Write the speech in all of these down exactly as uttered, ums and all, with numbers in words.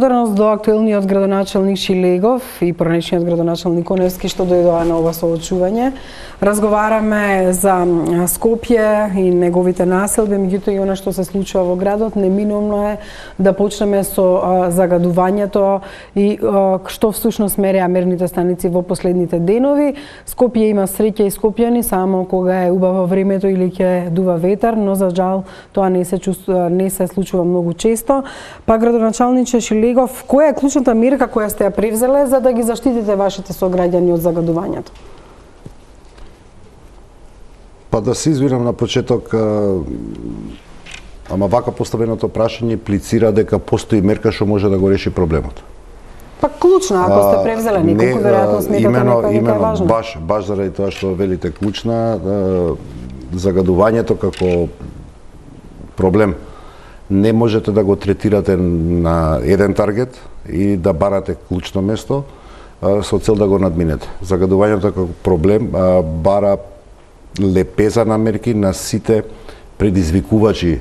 благодарност до актуелниот градоначелник Шилегов и поранешниот градоначелник Коневски што дојдоа на ова соочување. Разговараме за Скопје и неговите населби, меѓутоа и она што се случува во градот. Неминовно е да почнеме со загадувањето и што всушност мереа мерните станици во последните денови. Скопје има среќа и скопјани само кога е убаво времето или ќе дува ветар, но за жал тоа не се чувствува, не се случува многу често. Па градоначалниче Шилегов, која е клучната мерка која сте ја превзеле за да ги заштитите вашите сограѓани од загадувањето? Па да се извинам на почеток, ама вака поставеното прашање имплицира дека постои мерка што може да го реши проблемот. Па клучна, ако сте превзеле неколку, веројатно сметате дека е важно. Баш, баш заради тоа што велите клучна, загадувањето како проблем не можете да го третирате на еден таргет и да барате клучно место со цел да го надминете. Загадувањето како проблем бара лепеза на мерки на сите предизвикувачи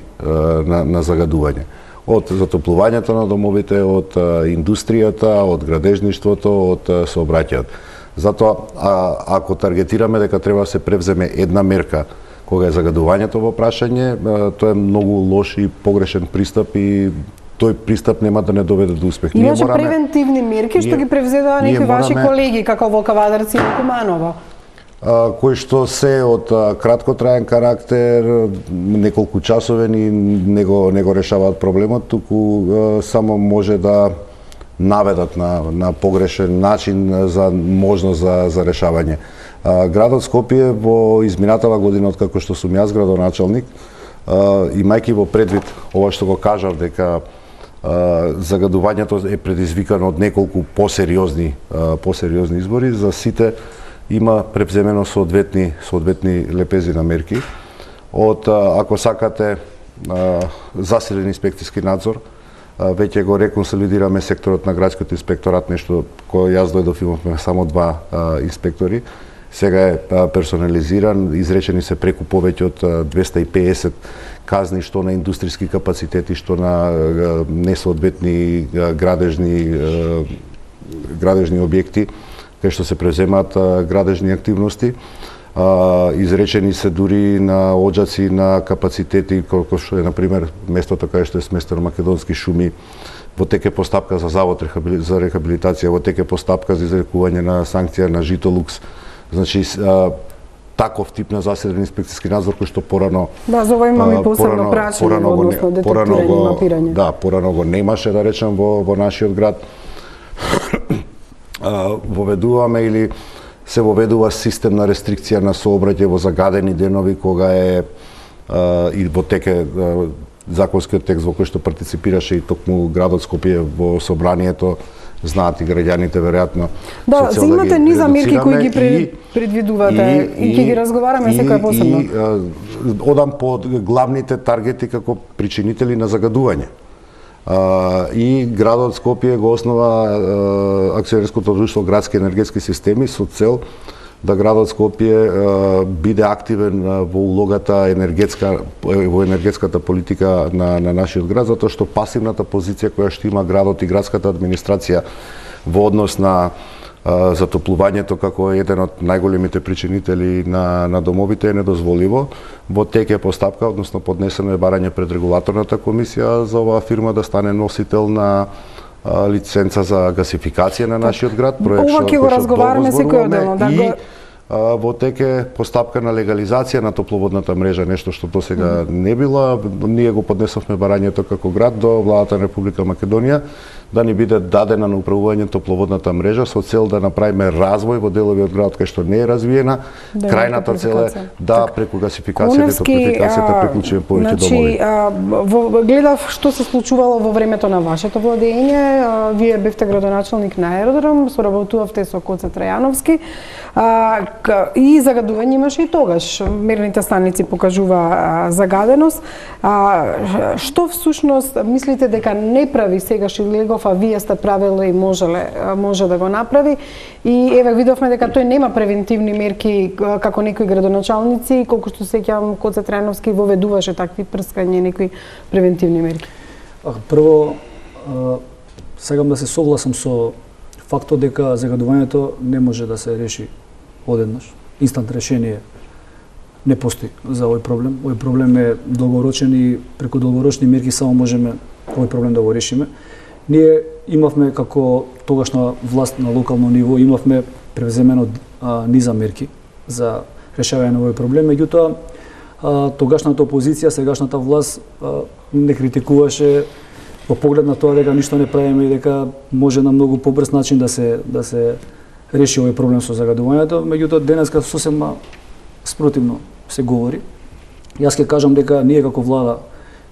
на, на загадување. Од затоплувањето на домовите, од индустријата, од градежништвото, од сообраќајот. Затоа, а, ако таргетираме дека треба да се превземе една мерка кога е загадувањето во прашање, тоа е многу лош и погрешен пристап и тој пристап нема да не доведе до успех. Имаше мораме, превентивни мерки што ги превзедоа некои ваши колеги, како во Кавадарци и Куманово, кои што се од краткотраен карактер, неколку часовени не го, не го решаваат проблемот, туку само може да наведат на, на погрешен начин за можност за, за решавање. Градот Скопје во изминатава година, од како што сум јас градоначалник, имајќи во предвид ова што го кажав дека загадувањето е предизвикано од неколку посериозни посериозни избори, за сите има превземено соодветни соодветни лепези на мерки. Од, ако сакате, засилен инспекцијски надзор, веќе го реконсолидираме секторот на градскиот инспекторат, нешто кој јас дојдов имавме само два инспектори. Сега е персонализиран, изречени се преку повеќе од двесте и педесет казни, што на индустријски капацитети, што на несоодветни градежни градежни објекти, кај што се преземаат градежни активности. Изречени се дури на оџаци на капацитети, како што е, например, местото кај што е сместено Македонски шуми, во тек е постапка за завод за рехабилитација, во тек е постапка за изрекување на санкција на Житолукс. Значи, таков тип на засилен инспекцијски надзор кој што порано Да, за ова имаме посебно прашање, односно детектирање и мапирање. Да, порано го немаше, да речем, во, во нашиот град. Воведуваме или се воведува систем на рестрикција на сообраќај во загадени денови кога е и во тек е законскиот текст во кој што партиципираше и токму градот Скопје во собранието, знаат и граѓаните веројатно. Да, се имате низа мерки кои ги предвидувате и ќе ги разговараме секоја посебно. И одам по главните таргети како причинители на загадување. Uh, и градот Скопје го основа uh, акционерското друштво Градски енергетски системи со цел да градот Скопје uh, биде активен uh, во улогата енергетска во енергетската политика на на нашиот град, затоа што пасивната позиција која што има градот и градската администрација во однос на uh, затоплувањето како еден од најголемите причинители на на домовите е недозволиво. Во тек е постапка, односно поднесено е барање пред регулаторната комисија за оваа фирма да стане носител на а, лиценца за гасификација на нашиот град. Проект ова ќе го разговараме секој одделно, да го а, во тек е постапка на легализација на топловодната мрежа, нешто што досега не било. Ние го поднесовме барањето како град до владата на Република Македонија да ни биде дадена на управување топловодната мрежа со цел да направиме развој во делови од градот кај што не е развиена. Да, крајната цел е да преку гасификација и топлификацијата приклучиме повеќе домови. Значи, во, гледав што се случувало во времето на вашето владење. Вие бевте градоначалник на аеродром, соработувавте со Коце Трајановски. А, и загадување имаше и тогаш. Мерните станици покажува загаденост. А, што всушност мислите дека не прави сега Шилегов, а вие сте правело и можеле, може да го направи? И еве видовме дека тој нема превентивни мерки како некои градоначалници, колку што сеќавам Коце Трајановски воведуваше такви прскање, некои превентивни мерки. Прво, сакам да се согласам со фактот дека загадувањето не може да се реши одеднаш. Инстант решение не постои за овој проблем. Овој проблем е долгорочен и преку долгорочни мерки само можеме овој проблем да го решиме. Ние имавме како тогашна власт на локално ниво, имавме превземено а, низа мерки за решавање на овој проблем, меѓутоа тогашната опозиција, сегашната власт а, не критикуваше во поглед на тоа дека ништо не правиме и дека може на многу побрз начин да се да се реши овој проблем со загадувањето, меѓутоа денеска сосема спротивно се говори. Јас ќе кажам дека ние како влада,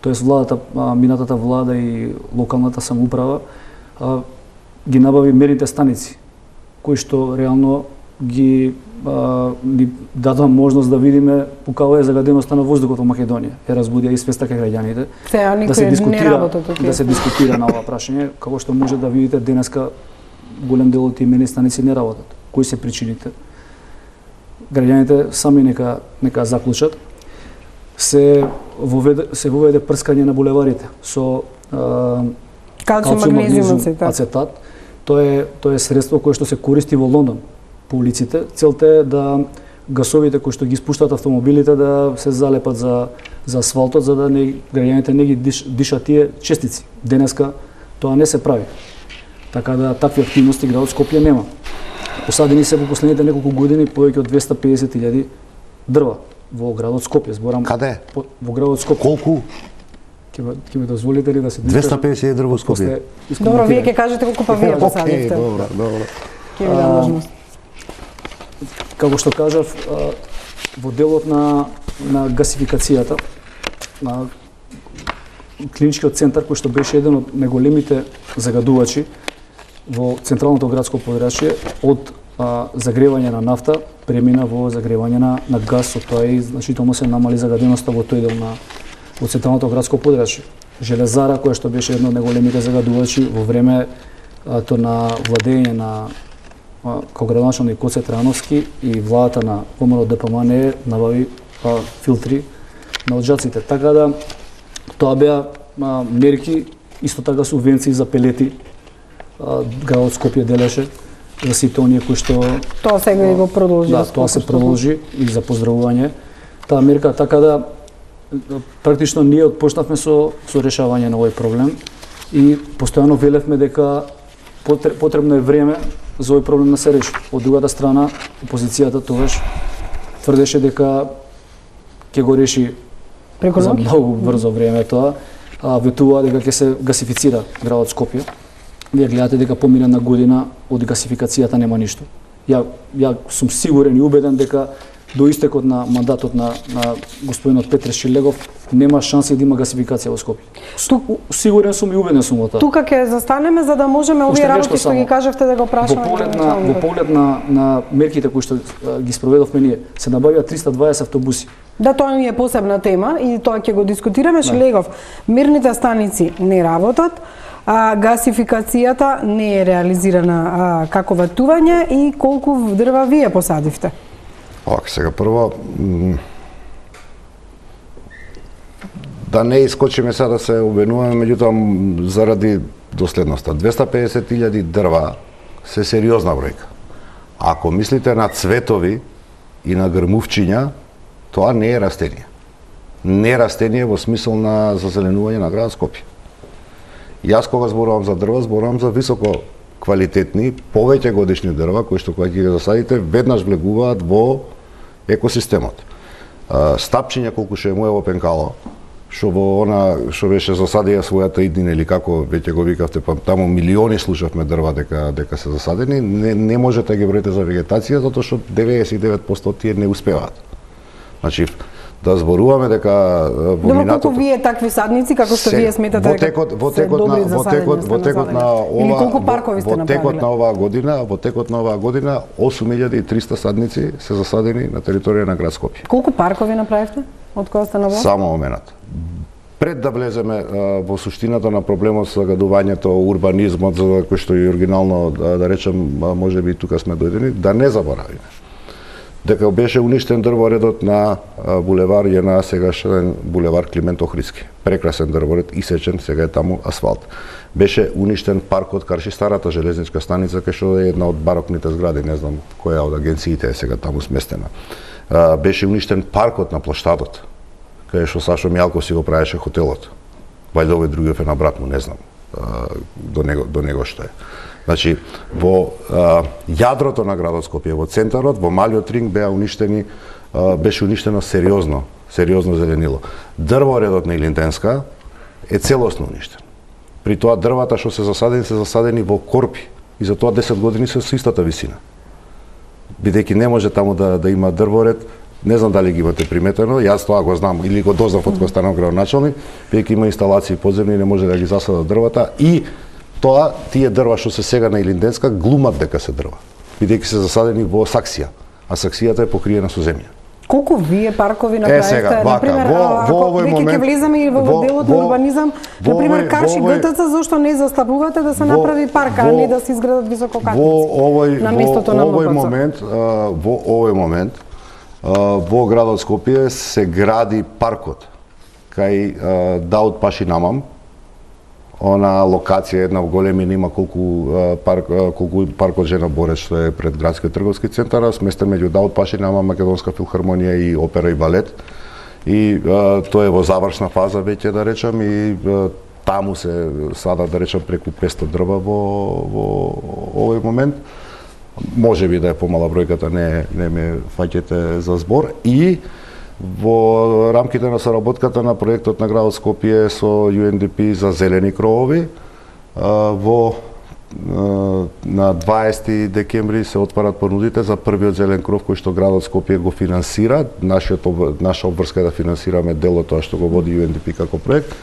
тоест владата, минатата влада и локалната самоуправа а, ги набави мерните станици, кои што реално ги а, ни дадоа можност да видиме каква е загаденоста на воздухот во Македонија. Е разбудија и свеста кај граѓаните. Да се дискутира, да се дискутира на ова прашање, како што може да видите денеска голем дел од тие мерни станици не работат. Кои се причините? Граѓаните сами нека нека заклучат. Се воведе се воведе прскање на булеварите со а, калциум магнезиум ацетат. ацетат. Тоа е тоа е средство кое што се користи во Лондон по улиците. Целта е да гасовите кои што ги спуштаат автомобилите да се залепат за за асфалтот, за да не граѓаните не ги диш, дишат тие честици. Денеска тоа не се прави. Така да такви активности градот Скопје нема. Посадени се во последните неколку години повеќе од двесте и педесет илјади дрва во градот Скопје. Зборам Каде? По, во градот Скопје. Колку? Ќе ќе ми дозволите ли да се двесте и педесет дрва во Скопје. Добро, вие ќе кажете колку па вие посадивте. Океј, добро, добро. Ќе ви дам можност. Како што кажав, во делот на на гасификацијата на клиничкиот центар кој што беше еден од најголемите загадувачи во централното градско подрачје од а, загревање на нафта премина во загревање на, на газ, со тоа и значително се намали загаденоста во тој дел на во централното градско подрачје. Железара која што беше еден од најголемите загадувачи во време а, то на владење на а, како градоначалник Коце Трановски и владата на О М Р Д П М не набави а, филтри на оджаците. Така да тоа беа а, мерки, исто така субвенции за пелети. Градот Скопје делеше за сите оние кои што тоа сега и го продолжи. Да, тоа се продолжи и за поздравување таа мерка, така да практично ние отпочнавме со со решавање на овој проблем и постојано велевме дека потребно е време за овој проблем да се реши. Од другата страна, опозицијата тогаш тврдеше дека ќе го реши преку за многу брзо време тоа, а ветува дека ќе се гасифицира градот Скопје. Вие гледате дека помина на година од гасификацијата нема ништо. Ја ја сум сигурен и убеден дека до истекот на мандатот на на господинот Петре Шилегов нема шанси да има гасификација во Скопје. Тук, сигурен сум и убеден сум во тоа. Тука ќе застанеме за да можеме овие работи што ги кажавте да го прашаме. Во поглед на во поглед на на мерките кои што ги спроведовме ние, се набавија триста и дваесет автобуси. Да, тоа ми е посебна тема и тоа ќе го дискутираме. Шилегов, мерните станици не работат. А, гасификацијата не е реализирана а, како ветување и колку дрва вие посадивте? Ок, сега прво да не искочиме сега да се обвинуваме, меѓутоа заради доследноста. двесте и педесет илјади дрва се сериозна бројка. Ако мислите на цветови и на грмувчиња, тоа не е растение. Не е растение во смисол на зазеленување на градот Скопје. Јас кога зборувам за дрва, зборувам за високо квалитетни, повеќе годишни дрва, кои што кога ги засадите, веднаш влегуваат во екосистемот. Стапчиња колку што е моево пенкало, што во она што беше засадија својата иднина или како веќе го викавте, па таму милиони слушавме дрва дека дека се засадени, не, не можете да ги броите за вегетација затоа што деветдесет и девет проценти тие не успеваат. Значи да зборуваме дека во минатото колку вие такви садници како што се, вие сметате во текот во текот на во текот во текот на ова колку паркови сте направиле? Во текот на оваа година, во текот на оваа година осум илјади и триста садници се засадени на територија на град Скопје. Колку паркови направивте од кога сте на власт? Само момент. Пред да влеземе а, во суштината на проблемот со загадувањето, урбанизмот, за кој што и оригинално да, да речем, можеби тука сме дојдени, да не заборавиме дека беше уништен дрворедот на булевар Јена, сегашен булевар Климент Охридски. Прекрасен дрворед, исечен, сега е таму асфалт. Беше уништен паркот Карши, старата железничка станица, кај што е една од барокните згради, не знам која од агенциите е сега таму сместена. Беше уништен паркот на плоштадот, кај што Сашо Мјалков си го правеше хотелот. Вајде овој другиот е на брат му, не знам до него, до него што е. Значи, во а, јадрото на градот Скопје, во центарот, во малиот ринг беа уништени, а, беше уништено сериозно, сериозно зеленило. Дрворедот на Илинденска е целосно уништен. При тоа дрвата што се засадени, се засадени во корпи и за тоа десет години се со истата висина. Бидејќи не може таму да, да има дрворед, не знам дали ги имате приметено, јас тоа го знам или го дознав од кога станав градоначалник, бидејќи има инсталации подземни, не може да ги засадат дрвата и тоа тие дрва што се сега на Илинденска глумат дека се дрва, бидејќи се засадени во саксија, а саксијата е покриена со земја. Колку вие паркови направивте, например, ако веќе ќе влизаме и во делот на урбанизам, например, Карши ГТЦ, зошто не застапувате да се направи парк, а не да се изградат висококатници на местото на овој момент, во овој момент, во градот Скопје се гради паркот кај Даут Паши Намам. Она локација една во големина, има колку парк, колку паркот Жена Борец што е пред градскиот трговски центар, сместен меѓу Даут Паши Нама, Македонска филхармонија и опера и балет. И а, тоа е во завршна фаза веќе, да речам, и а, таму се сада, да речам, преку петсто дрва во, во овој момент. Може би да е помала бројката, не, не ме фаќате за збор. И во рамките на соработката на проектот на градот Скопје со Ю Ен Ди Пи за зелени кровови, во на дваесети декември се отварат понудите за првиот зелен кров кој што градот Скопје го финансира. Нашиот, наша обврска е да финансираме делот тоа што го води Ю Ен Ди Пи како проект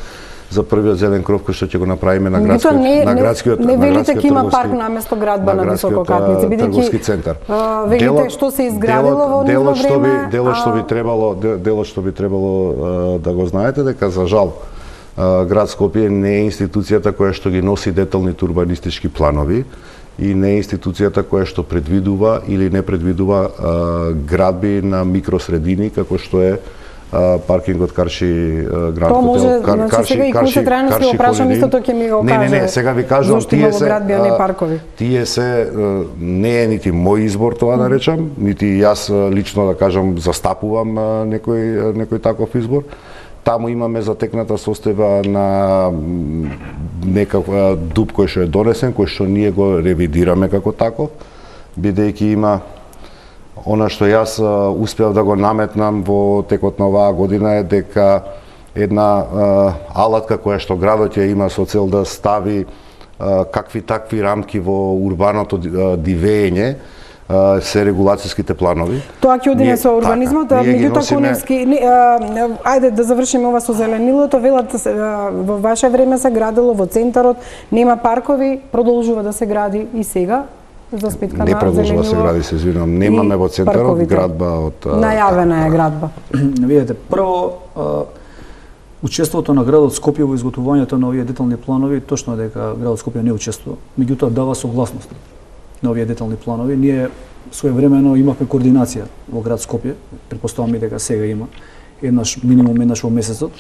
за првиот зелен кров кој што ќе го направиме на градскиот не, на градскиот не, не велите ќе има парк наместо градба на, на висококатници, бидејќи центар. Велите делот, што се изградило во нивно време, делот што би требало делот што би требало да го знаете дека за жал град Скопје не е институцијата која што ги носи деталните урбанистички планови и не е институцијата која што предвидува или не предвидува градби на микросредини како што е паркингот Карши Гранд Тоа може, хотел, значи Карши, сега и Куце Трајански го прашам, истото ќе ми го каже. Не, не, не, сега ви кажувам, тие се градби, а не паркови. Тие се не е нити мој избор тоа да речам, нити јас лично да кажам застапувам некој некој таков избор. Таму имаме затекната состојба на некаква дуб кој што е донесен, кој што ние го ревидираме како таков, бидејќи има она што јас успеав да го наметнам во текот на оваа година е дека една алатка која што градот ја има со цел да стави какви такви рамки во урбаното дивење се регулацијските планови. Тоа ќе одиме со урбанизмот, а меѓутоа Коневски, ајде да завршиме ова со зеленилото, велат во ваше време се градило во центарот, нема паркови, продолжува да се гради и сега. За сметка не на продолжува да се гради, се извинувам, немаме во центарот градба од најавена е градба. Видете, прво учеството на градот Скопје во изготвувањето на овие детални планови, точно дека градот Скопје не учествува, меѓутоа дава согласност на овие детални планови. Ние своевремено имавме координација во град Скопје, претпоставам и дека сега има, еднаш минимум еднаш во месецот,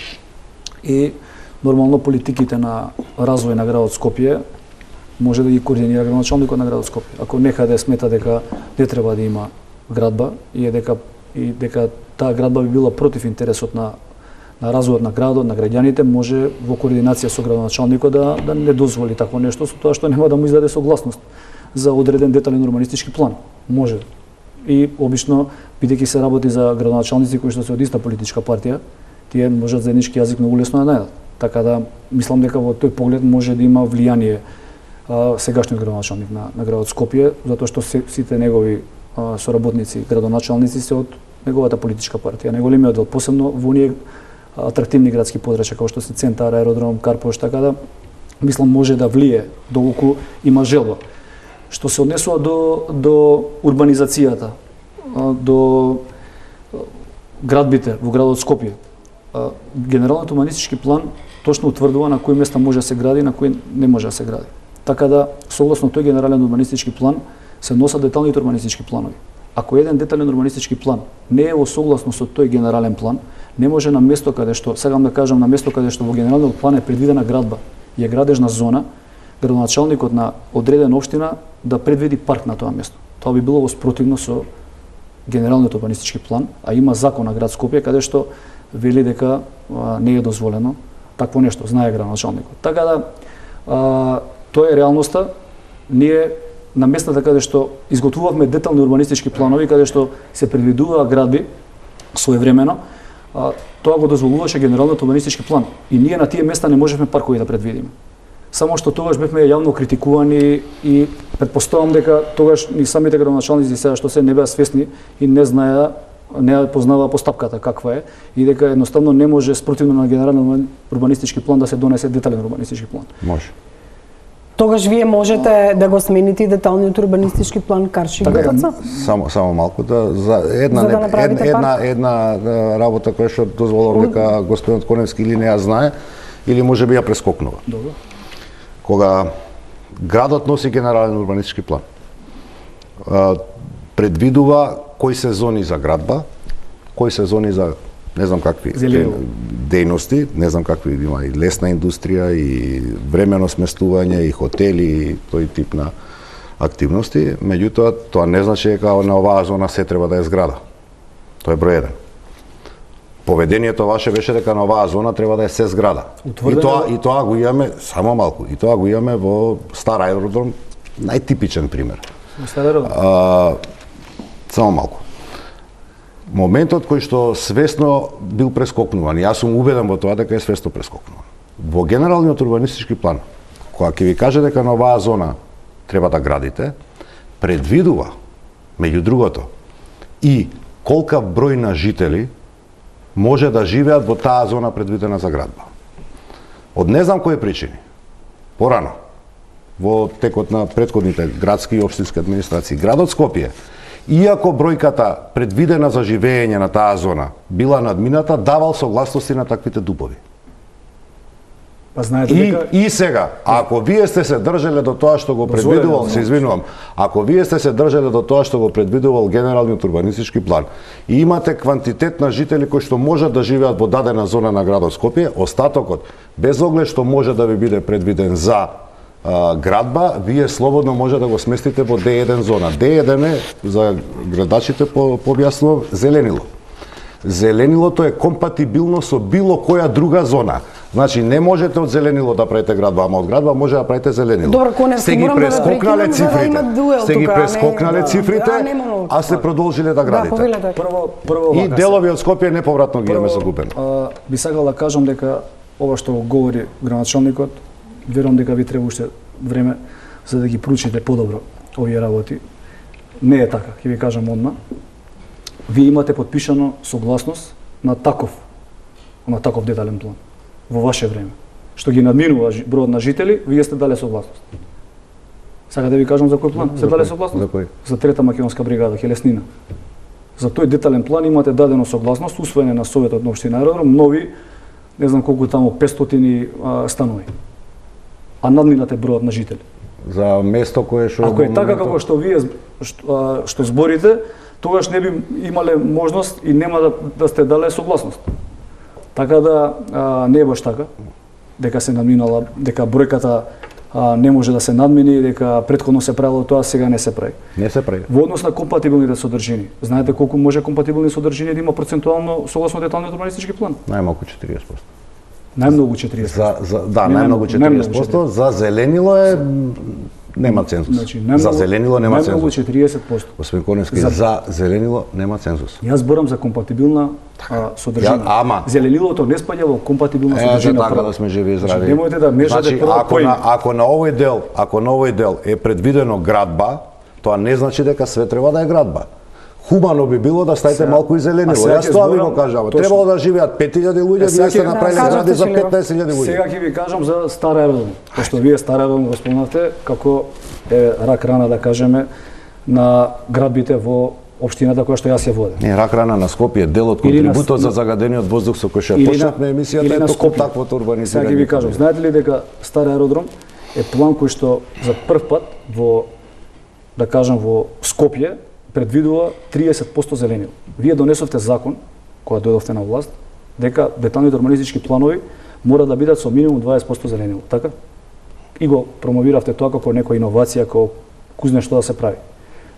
и нормално политиките на развој на градот Скопје може да ги координира градоначалникот на градот Скопје. Ако некаде смета дека не треба да има градба и е дека и дека таа градба би била против интересот на на развојот на градот, на граѓаните, може во координација со градоначалникот да да не дозволи такво нешто, со тоа што нема да му издаде согласност за одреден детален урбанистички план. Може. И обично, бидејќи се работи за градоначалници кои што се од иста политичка партија, тие можат заеднички јазик многу лесно да најдат. Така да мислам дека во тој поглед може да има влијание сегашниот градоначалник на, на градот Скопје, затоа што се, сите негови а, соработници, градоначалници се од неговата политичка партија. Неголемиот дел, посебно во оние атрактивни градски подрачја, како што се центар, аеродром, Карпош, така да мислам може да влие доколку има желба. Што се однесува до, до урбанизацијата, до градбите во градот Скопје, генералниот урбанистички план точно утврдува на кои места може да се гради и на кои не може да се гради. Така да, согласно тој генерален урбанистички план, се носат деталните урбанистички планови. Ако еден детален урбанистички план не е во согласност со тој генерален план, не може на место каде што, сакам да кажам, на место каде што во генералниот план е предвидена градба и е градежна зона, градоначалникот на одредена општина да предвиди парк на тоа место. Тоа би било воспротивно со генералниот урбанистички план, а има закон на град Скопје каде што вели дека а, не е дозволено такво нешто, знае градоначалникот. Така да а, тоа е реалноста. Ние на местата каде што изготвувавме детални урбанистички планови, каде што се предвидуваа градби своевремено, а, тоа го дозволуваше генералниот урбанистички план. И ние на тие места не можевме паркови да предвидиме. Само што тогаш бевме јавно критикувани и претпоставам дека тогаш ни самите градоначалници сега што се не беа свесни и не знаеа, не познаваа постапката каква е и дека едноставно не може спротивно на генерален урбанистички план да се донесе детален урбанистички план. Може. Тогаш вие можете да го смените и деталниот урбанистички план Карши Горца? Само само малку да за една за да една, една една една работа која што дозволам дека господинот Коневски или не ја знае или можеби ја прескокнува. Добро. Кога градот носи генерален урбанистички план, предвидува кои се зони за градба, кои се зони за не знам какви Зелено. дејности, не знам какви има и лесна индустрија и временно сместување и хотели и тој тип на активности, меѓутоа тоа не значи дека на оваа зона се треба да е зграда. Тоа е број еден. Поведението ваше беше дека на оваа зона треба да е се зграда. Утврдено... И тоа и тоа го имаме само малку. И тоа го имаме во Стар аеродром, најтипичен пример. Стар аеродром. А, само малку. Моментот кој што свесно бил прескокнуван, јас сум убеден во тоа дека е свесно прескокнуван. Во генералниот урбанистички план, кога ќе ви каже дека на оваа зона треба да градите, предвидува меѓу другото и колка број на жители може да живеат во таа зона предвидена за градба. Од не знам кои причини, порано, во текот на претходните градски и општински администрации, градот Скопје, иако бројката предвидена за живење на таа зона била надмината, давал согласности на таквите дупови. Па знаете И, дека и сега, ако вие сте се држале до тоа што го предвидувал, се извинувам, ако вие сте се држале до тоа што го предвидувал генералниот урбанистички план и имате квантитет на жители кои што можат да живеат во дадена зона на градот Скопје, остатокот, без оглед што може да ви биде предвиден за а, градба, вие слободно може да го сместите во Д еден зона. Д еден е, за градачите по, пообјаснувам, зеленило. Зеленилото е компатибилно со било која друга зона. Значи не можете од зеленило да правите градба, ама од градба може да правите зеленило. Добро, Коневски, сте ги морам да прескокнале прекинам, за да цифрите. има дуел Сте ги тука, а не- прескокнале да. цифрите, Да, нема а сте продолжиле да Да, градите. повелете. прво прво И вака се. делови од Скопје неповратно ги имаме закупени. а, би сакал да кажам дека ова што говори градоначалникот, верувам дека ви треба уште време за да ги проучите подобро овие работи. Не е така, ќе ви кажам одма. Вие имате подпишано согласност на таков на таков детален план во ваше време. Што ги надминува жи- бројот на жители, вие сте дале согласност. Сака да ви кажам за кој план? Се дале согласност? За кој? За трета македонска бригада, Хелеснина. За тој детален план имате дадено согласност, усвоене на Советот на општина Аеродром, нови, не знам колку таму, петстотини а, станови. А надминате бројот на жители. За место кое што Ако е во така моментот- како што вие зб- што, а, што зборите, тогаш не би имале можност и нема да, да сте дале согласност. Така да а, не е баш така, дека се надминала, дека бројката а, не може да се надмини, дека претходно се правило тоа, сега не се прави. не се прави. Во однос на компатибилните содржини, знаете колку може компатибилни содржини да има процентуално согласно деталниот урбанистички план? Најмалку четириесет проценти. Најмногу четириесет. За, за да, Не, најмногу најмногу четириесет проценти, за зеленило е м, нема цензус. Значи, најмногу- За зеленило нема најмногу цензус. четириесет проценти. Господин Коневски, За- за зеленило нема цензус. Јас зборам за компатибилна а, содржина. Ја- ама- Зеленилото не спаѓа во компатибилна Е, за содржина. така право. да сме живи и здрави. Значи, немојте да мешате Значи, прво ако кој. на, ако на овој дел, ако на овој дел е предвидено градба, тоа не значи дека све треба да е градба. Хумано би било да ставите Сега- малку и а зеленило. сега Јас ќе тоа ви зборам го кажам. точно. Требало да живеат пет илјади луѓе, Е, сега вие сте ќе- направиле да, згради за кажете, петнаесет илјади луѓе. Сега ќе ви кажам за Стар аеродром, пошто вие Стар аеродром го спомнавте како е рак рана да кажеме на градбите во општината која што јас ја водам. Не, рак рана на Скопје, дел од Или на- контрибутот за загадениот воздух со кој што Или на- почнавме емисијата или е на токму Скопје. таквото урбанизирање. Сега ќе ви кажам, знаете ли дека Стар аеродром е план кој што за прв пат во, да кажам, во Скопје предвидува триесет проценти зеленило. Вие донесовте закон, кога дојдовте на власт, дека деталните урбанистички планови мора да бидат со минимум дваесет проценти зеленило, така? И го промовиравте тоа како некоја иновација, како кузне што да се прави.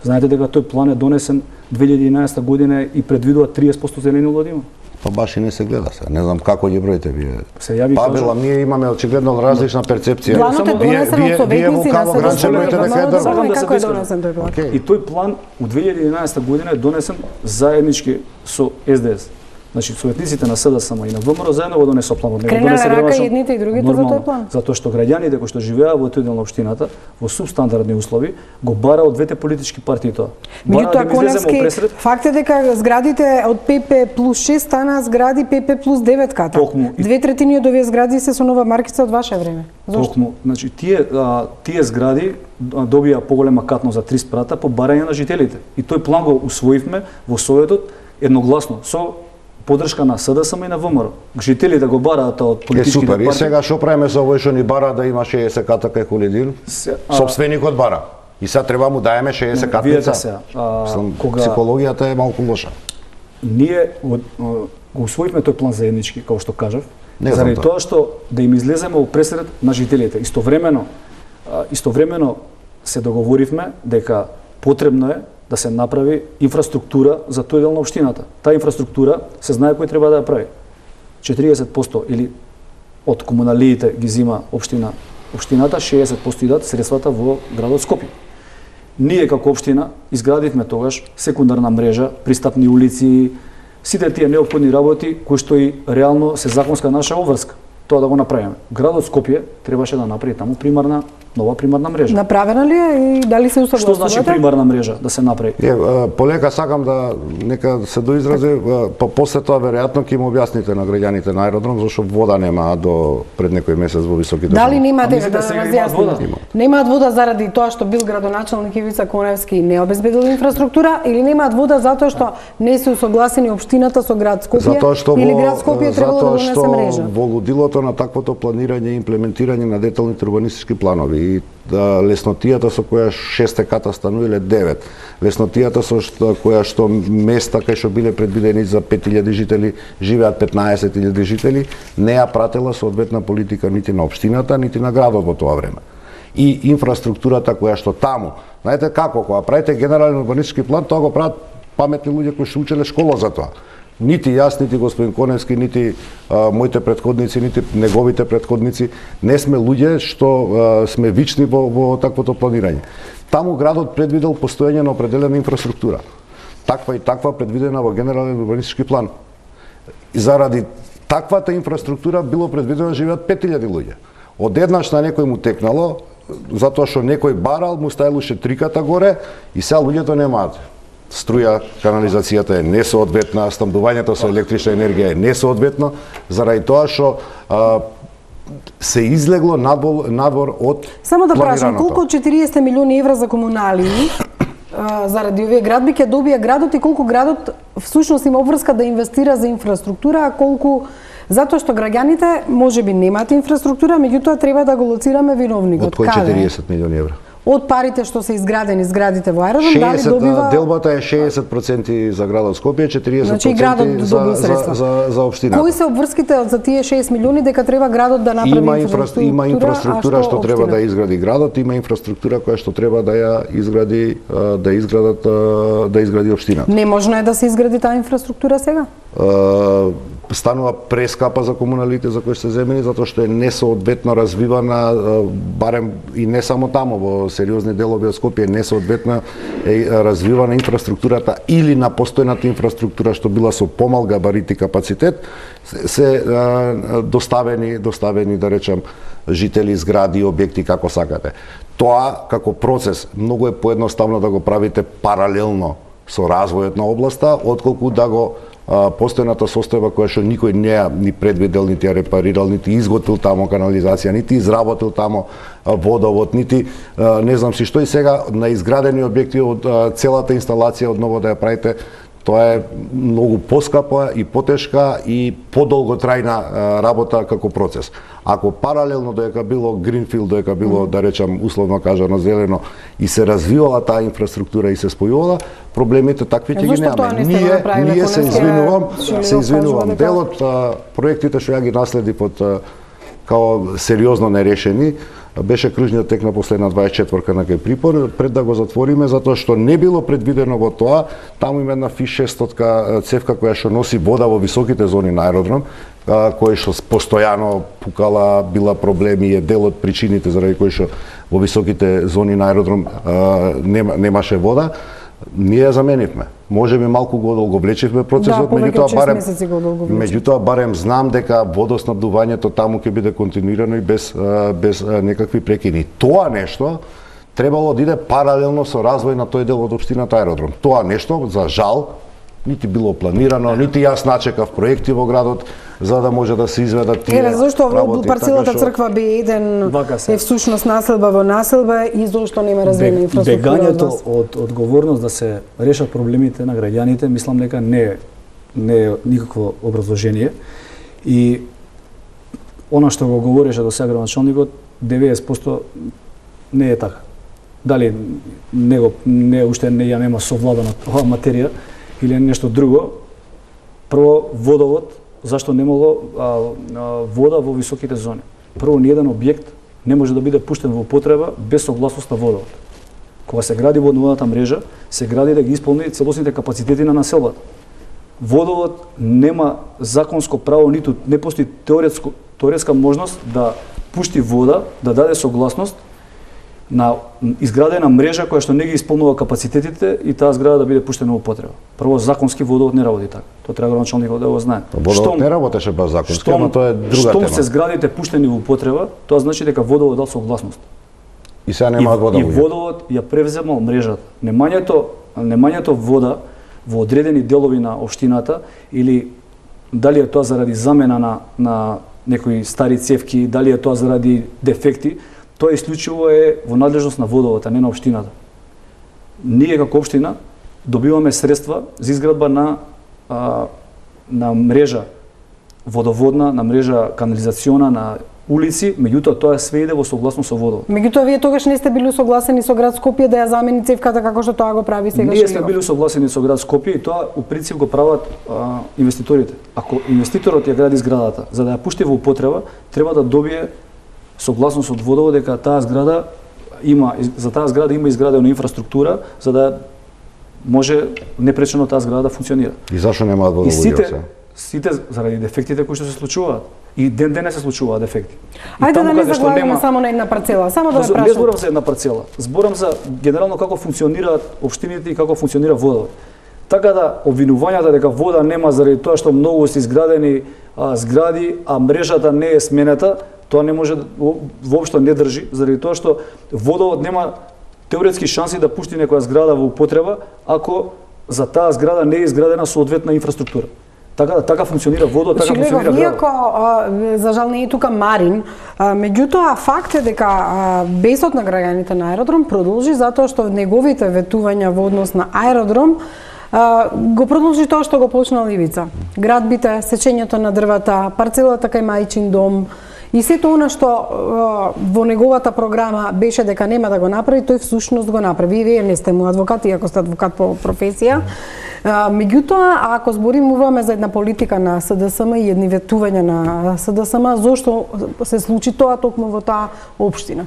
Знаете дека тој план е донесен две илјади и единаесетта година и предвидува триесет проценти зеленило да има? Па баш и не се гледа се. Не знам како ги броите вие. Се јави Павела, ние имаме очигледно различна перцепција. Планот е донесен од советници на седумдесет како е донесен тој план? И тој план у две илјади и единаесетта година е донесен заеднички со С Д С. Значи советниците на С Д С м и на В М Р заедно го донесоа планот. Кренеле рака и едните и другите за тој план. Затоа што граѓаните кои што живееа во тој дел на општината во субстандардни услови го бара од двете политички партии тоа. Меѓутоа Коневски, факт е дека зградите од П П плюс шест стана згради П П плюс девет ката. Токму. Две третини од овие згради се со нова маркица од ваше време. Зошто? Токму. Значи тие а, тие згради добија поголема катност за три спрата по барање на жителите. И тој план го усвоивме во Советот едногласно со поддршка на С Д С М и на В М Р. Жителите го бараат од политичките партии. Е супер. И сега што правиме со овој што ни бара да има шеесет ката кај Холидин? Сопственикот бара. И сега треба му даеме шеесет катница. Се, а, кога психологијата е малку лоша. Ние го, го усвоивме тој план заеднички, како што кажав, Не заради тоа што да им излеземе во пресред на жителите. Истовремено, истовремено се договоривме дека потребно е да се направи инфраструктура за тој дел на општината. Таа инфраструктура се знае кој треба да ја прави. четириесет проценти или од комуналиите ги зима општина, општината, шеесет проценти идат средствата во градот Скопје. Ние како општина изградивме тогаш секундарна мрежа, пристапни улици, сите тие неопходни работи кои што и реално се законска наша обврска. Тоа да го направиме. Градот Скопје требаше да направи таму примарна нова примарна мрежа. Направена ли е и дали се усогласувате? Што значи примарна мрежа да се направи? Е, полека сакам да нека се доизрази, па после тоа веројатно ќе им објасните на граѓаните на аеродром зашто вода нема до пред некој месец во високи држави. Дали немате да разјасните? Немаат вода заради тоа што бил градоначалник Ивица Коневски и не обезбедил инфраструктура или немаат вода затоа што не се усогласени општината со град Скопје или град Скопје требало да донесе мрежа? Во лудилото на таквото планирање и имплементирање на деталните урбанистички планови и да, леснотијата со која шесте ката станувале девет, леснотијата со што, која што места кај што биле предвидени за пет илјади жители живеат петнаесет илјади жители, не ја пратела соодветна политика нити на општината, нити на градот во тоа време. И инфраструктурата која што таму, знаете како, кога правите генерален урбанистички план, тоа го прават паметни луѓе кои што учеле школа за тоа. Нити јас, нити господин Коневски, нити а, моите претходници, нити неговите претходници не сме луѓе што а, сме вични во, во таквото планирање. Таму градот предвидел постоење на определена инфраструктура. Таква и таква предвидена во генерален урбанистички план. И заради таквата инфраструктура било предвидено да живеат пет илјади луѓе. Одеднаш на некој му текнало, затоа што некој барал, му ставилуше триката горе и сега луѓето немаат струја, канализацијата е несоодветна, снабдувањето со електрична енергија е несоодветно, заради тоа што се излегло надвор, надвор од Само да прашам, колку четириесет милиони евра за комуналии заради овие градби ќе добија градот и колку градот всушност има обврска да инвестира за инфраструктура, а колку затоа што граѓаните можеби немаат инфраструктура, меѓутоа треба да го лоцираме виновникот. Од кои четириесет милиони евра? Од парите што се изградени зградите во аеродром, дали добива делбата е шеесет проценти за градот Скопје, четириесет проценти значи, за за за за општината. Кои се обврските за тие шест милиони дека треба градот да направи има инфраструктура? Има инфраструктура што, што треба општина? да изгради градот, има инфраструктура која што треба да ја изгради да изградат да изгради општината. Неможно е да се изгради таа инфраструктура сега? Uh, станува прескапа за комуналите за кои се земени затоа што е несоодветно развивана, барем и не само таму, во сериозни делови од Скопје несоодветно е развивана инфраструктурата или на постојната инфраструктура што била со помал габарит и капацитет се, се а, доставени доставени да речам жители, згради, објекти како сакате. Тоа како процес многу е поедноставно да го правите паралелно со развојот на областа отколку да го постојната состојба која што никој не ја ни предвидел, нити ја репарирал, нити изготвил таму канализација, нити изработил таму водовод, нити не знам си што и сега на изградени објекти од целата инсталација од ново да ја правите, Тоа е многу поскапа и потешка и подолготрајна работа како процес. Ако паралелно доека било гринфилд, доека било, да речам, условно кажано зелено, и се развивала таа инфраструктура и се спојувала, проблемите таквите ги немаме. Ние, ние се извинувам, се извинувам. Дел од проектите што ја ги наследив од као сериозно нерешени, беше кружниот тек на последна дваесет и четвртка на кај припор, пред да го затвориме, затоа што не било предвидено во тоа. Таму има една фиш шестстотка цевка која што носи вода во високите зони на аеродром, кој што постојано пукала, била проблеми, е дел од причините заради кои што во високите зони на аеродром нема, немаше вода. Ние ја заменивме. Може би малку го одолговлечивме процесот, да, меѓутоа барем меѓутоа барем знам дека водоснабдувањето таму ќе биде континуирано и без без некакви прекини. Тоа нешто требало да иде паралелно со развој на тој дел од општината аеродром. Тоа нешто, за жал, нити било планирано, нити јас начекав проекти во градот за да може да се изведат тие работи. Е, зашто во парцелата така што... црква би еден е всушност населба во населба и зошто нема развиена инфраструктура? Бегањето од одговорност да се решат проблемите на граѓаните, мислам дека не е не е никакво образложение. И она што го говореше до сега градоначалникот, деветдесет проценти не е така. Дали него не уште не ја нема совладана оваа материја или нешто друго. Прво, водовод, зашто немало а, а, вода во високите зони. Прво, ниеден објект не може да биде пуштен во употреба без согласност на водовод. Кога се гради водноводната мрежа, се гради да ги исполни целосните капацитети на населбата. Водовод нема законско право, ниту не постои теоретско, теоретска можност да пушти вода, да даде согласност на изградена мрежа која што не ги исполнува капацитетите и таа зграда да биде пуштена во употреба. Прво, законски водовод не работи така. Тоа треба градоначалникот да го знае. Водовод не работеше без законски, но тоа е друга тема. Штом се зградите пуштени во употреба, тоа значи дека водовод дал согласност. И сега немаат вода. И водовод ја превземал мрежата. Немањето, немањето вода во одредени делови на општината или дали е тоа заради замена на на некои стари цевки, дали е тоа заради дефекти, тоа исклучиво е во надлежност на водовод, а не на општината. Ние како општина добиваме средства за изградба на а, на мрежа водоводна, на мрежа канализациона, на улици, меѓутоа тоа све иде во согласност со водовод. Меѓутоа вие тогаш не сте били согласени со град Скопје да ја замени цевката како што тоа го прави сега? Ние сме били согласени со град Скопје и тоа у принцип го прават а, инвеститорите. Ако инвеститорот ја гради зградата, за да ја пушти во употреба, треба да добие согласност од водовод дека таа зграда има за таа зграда има изградена инфраструктура за да може непречено таа зграда да функционира. И зашо немаат водоводи? И сите сите заради дефектите кои што се случуваат. И ден денес се случуваат дефекти. Ајде да не заглавиме нема... само на една парцела, само да ме прашам. Не зборам за една парцела, зборам за генерално како функционираат општините и како функционира водовод. Така да обвинувањата дека вода нема заради тоа што многу се изградени а, згради, а мрежата не е сменета, тоа не може воопшто не држи, заради тоа што водовод нема теоретски шанси да пушти некоја зграда во употреба ако за таа зграда не е изградена соодветна инфраструктура. Така така функционира водот, така Шилегов, функционира градот. Иако за жал не е тука Марин, а, меѓутоа факт е дека а, бесот на граѓаните на аеродром продолжи затоа што неговите ветувања во однос на аеродром а, го продолжи тоа што го почнал Ивица. Градбите, сечењето на дрвата, парцелата кај мајчин дом, и сето она што во неговата програма беше дека нема да го направи, тој всушност го направи. Вие не сте му адвокат, иако сте адвокат по професија. Меѓутоа, ако зборимуваме за една политика на СДСМ и едни ветувања на СДСМ, зошто се случи тоа токму во таа општина?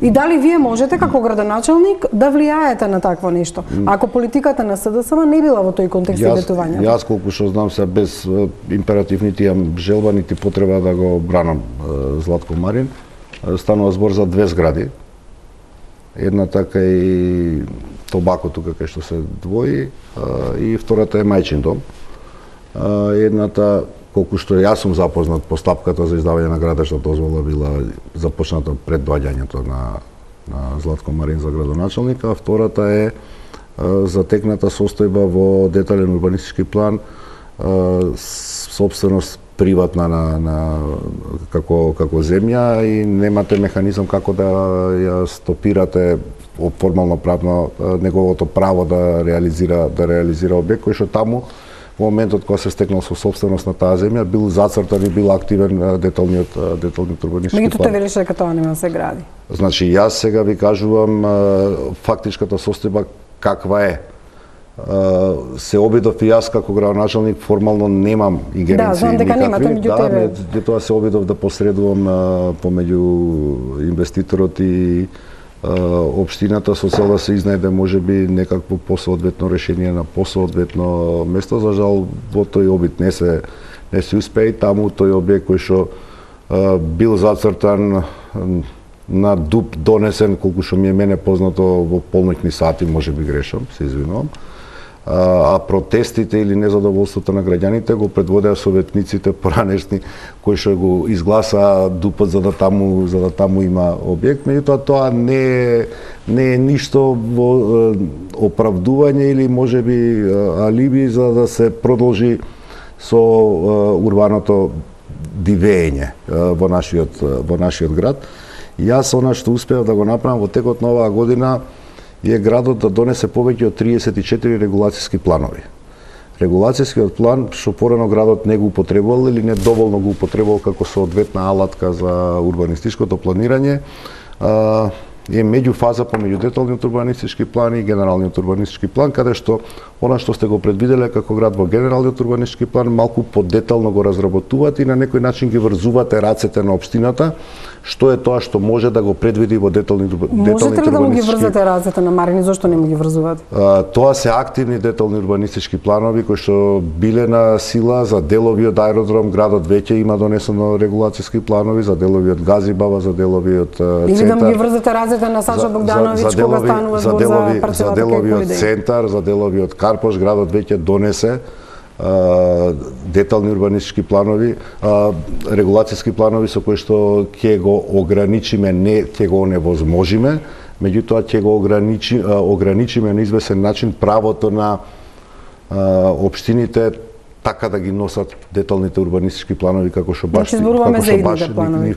И дали вие можете како градоначалник да влијаете на такво нешто? Ако политиката на СДСМ не била во тој контекст и ветувања? Јас колку што знам се без императив нити имам желба нити потреба да го бранам Златко Марин, станува збор за две згради. Едната кај Тобако тука кај што се двои и втората е мајчин дом. Едната, колку што јас сум запознат, постапката за издавање на градешна дозвола била започната пред доаѓањето на, на Златко Марин за градоначалник, а втората е затекната состојба во детален урбанистички план, собственост приватна на, на како како земја и немате механизам како да ја стопирате формално правно неговото право да реализира да реализира објект кој што таму во моментот кога се стекнал со собственост на таа земја бил зацртан и бил активен деталниот деталниот урбанистички план. Меѓутоа велиш дека тоа нема да се гради. Значи јас сега ви кажувам фактичката состојба каква е. Се обидов и јас како градоначалник формално немам ингеренции. Да, знам дека немате меѓу тебе. Да, тоа се обидов да посредувам помеѓу инвеститорот и општината со цел да се изнајде можеби некакво посоодветно решение на посоодветно место. За жал во тој обид не се не се успеа и таму тој објект кој што бил зацртан на дуб донесен, колку што ми е мене познато, во полноќни сати, можеби грешам, се извинувам. А протестите или незадоволството на граѓаните го предводеа советниците поранешни кои што го изгласаа дупот за да таму за да таму има објект, меѓутоа тоа не е не е ништо во оправдување или можеби алиби за да се продолжи со урбаното дивење во нашиот во нашиот град. Јас она што успеав да го направам во текот на оваа година е градот да донесе повеќе од триесет и четири регулацијски планови. Регулацијскиот план што порано градот не го употребувал или не доволно го употребувал како соодветна алатка за урбанистичкото планирање, е меѓуфаза помеѓу деталниот урбанистички план и генералниот урбанистички план, каде што она што сте го предвиделе како град во генералниот урбанистички план малку подетално го разработувате и на некој начин ги врзувате рацете на општината, што е тоа што може да го предвиди во детални детални Можете ли да му ги врзате рацете на Марин и зошто не му ги врзувате? Тоа се активни детални урбанистички планови кои што биле на сила за делови од аеродром, градот веќе има донесено регулацијски планови за делови од Газибаба, за делови од центар. Или да му ги врзате рацете на Сашо Богдановиќ кога станува збор за парцелата за делови од центар, за делови од Карпош, градот веќе донесе детални урбанистички планови, регулацијски планови со кои што ќе го ограничиме, не ќе го оневозможиме, меѓутоа ќе го ограничи, ограничиме на извесен начин правото на општините така да ги носат деталните урбанистички планови како што баш значи, како што баш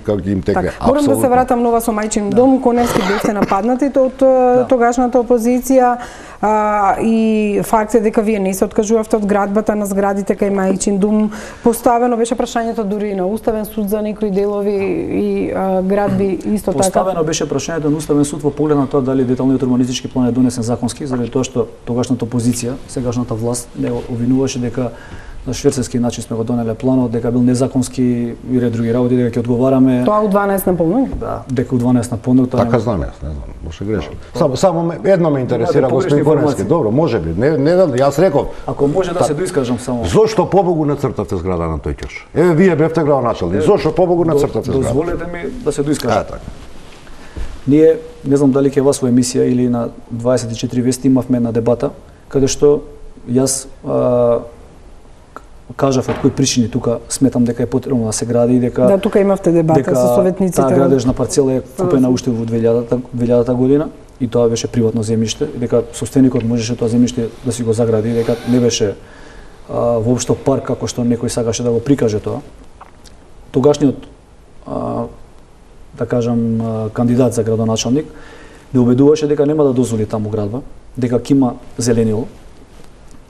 како им текне. Так, морам да се вратам нова со Мајчин дом, Коневски бевте нападнати од да. тогашната опозиција а, и факт е дека вие не се откажувавте од градбата на зградите кај Мајчин дом. Поставено беше прашањето дури и на Уставен суд за некои делови и а, градби исто така. Поставено беше прашањето на Уставен суд во поглед на тоа дали деталниот урбанистички план е донесен законски, заради тоа што тогашната опозиција, сегашната власт не обвинуваше дека на швейцарски начин сме го донеле планот, дека бил незаконски и ред други работи, дека ќе одговараме. Тоа у дванаесет на полнок? Да, дека у дванаесет на полнок. Така не... знам јас, не знам, може грешам. Само само ме, едно ме интересира господин Коневски. Добро, можеби. Не не јас реков. Ако може да се доискажам само. Зошто побогу нацртате зграда на тој ќош? Еве вие бевте градоначалник. Зошто побогу нацртате зграда? Дозволете ми да се доискажам. Така. Ние, не знам дали ќе вас во емисија или на дваесет и четири вести имавме една дебата каде што јас а, кажав од кои причини тука сметам дека е потребно да се гради и дека да тука имавте дебата со советниците. Таа градежна парцела е купена уште во две илјадата година и тоа беше приватно земјиште и дека собственикот можеше тоа земјиште да си го загради, дека не беше а, воопшто парк како што некој сакаше да го прикаже тоа. Тогашниот а, да кажам а, кандидат за градоначалник не убедуваше дека нема да дозволи таму градба, дека ќе има зеленило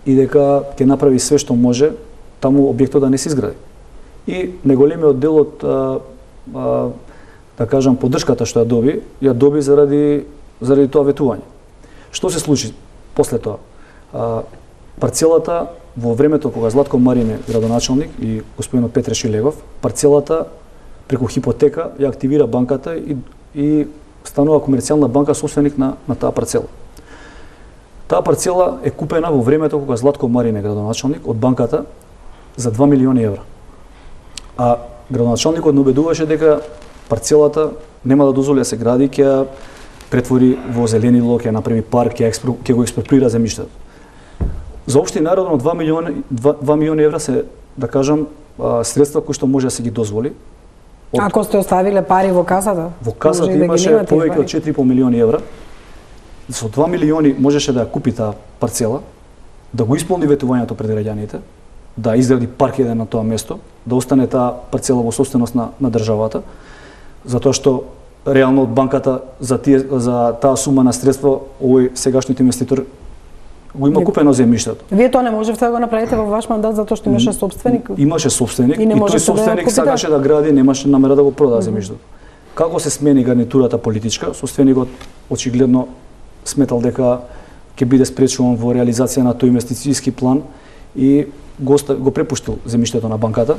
и дека ќе направи све што може таму објектот да не се изгради. И неголемиот дел од а, а, да кажам поддршката што ја доби, ја доби заради заради тоа ветување. Што се случи после тоа? А, парцелата во времето кога Златко Марин е градоначалник и господинот Петре Шилегов, парцелата преку хипотека ја активира банката и, и станува комерцијална банка собственик на, на таа парцела. Таа парцела е купена во времето кога Златко Марин е градоначалник од банката за два милиони евра. А градоначалникот не убедуваше дека парцелата нема да дозволи да се гради, ќе ја претвори во зеленило, ќе направи парк, ќе, експро, ќе го експроприира земјиштето. За општи народно два милиони, два милиони евра се, да кажам, средства кои што може да се ги дозволи. Од... Ако сте оставиле пари во касата? Во касата имаше да повеќе од четири и пол милиони евра. Со два милиони можеше да ја купи таа парцела, да го исполни ветувањето пред граѓаните, да изгради парк еден на тоа место, да остане таа парцела во собственост на, на државата, затоа што реално од банката за тие за таа сума на средства овој сегашниот инвеститор го има купено земјиштето. Вие тоа не можевте да го направите во ваш мандат затоа што имаше собственик? Имаше собственик и, и тој собственик да сакаше да гради, немаше намера да го продаде земјиштето. Како се смени гарнитурата политичка, собственикот очигледно сметал дека ќе биде спречуван во реализација на тој инвестицијски план и го, го препуштил земјиштето на банката.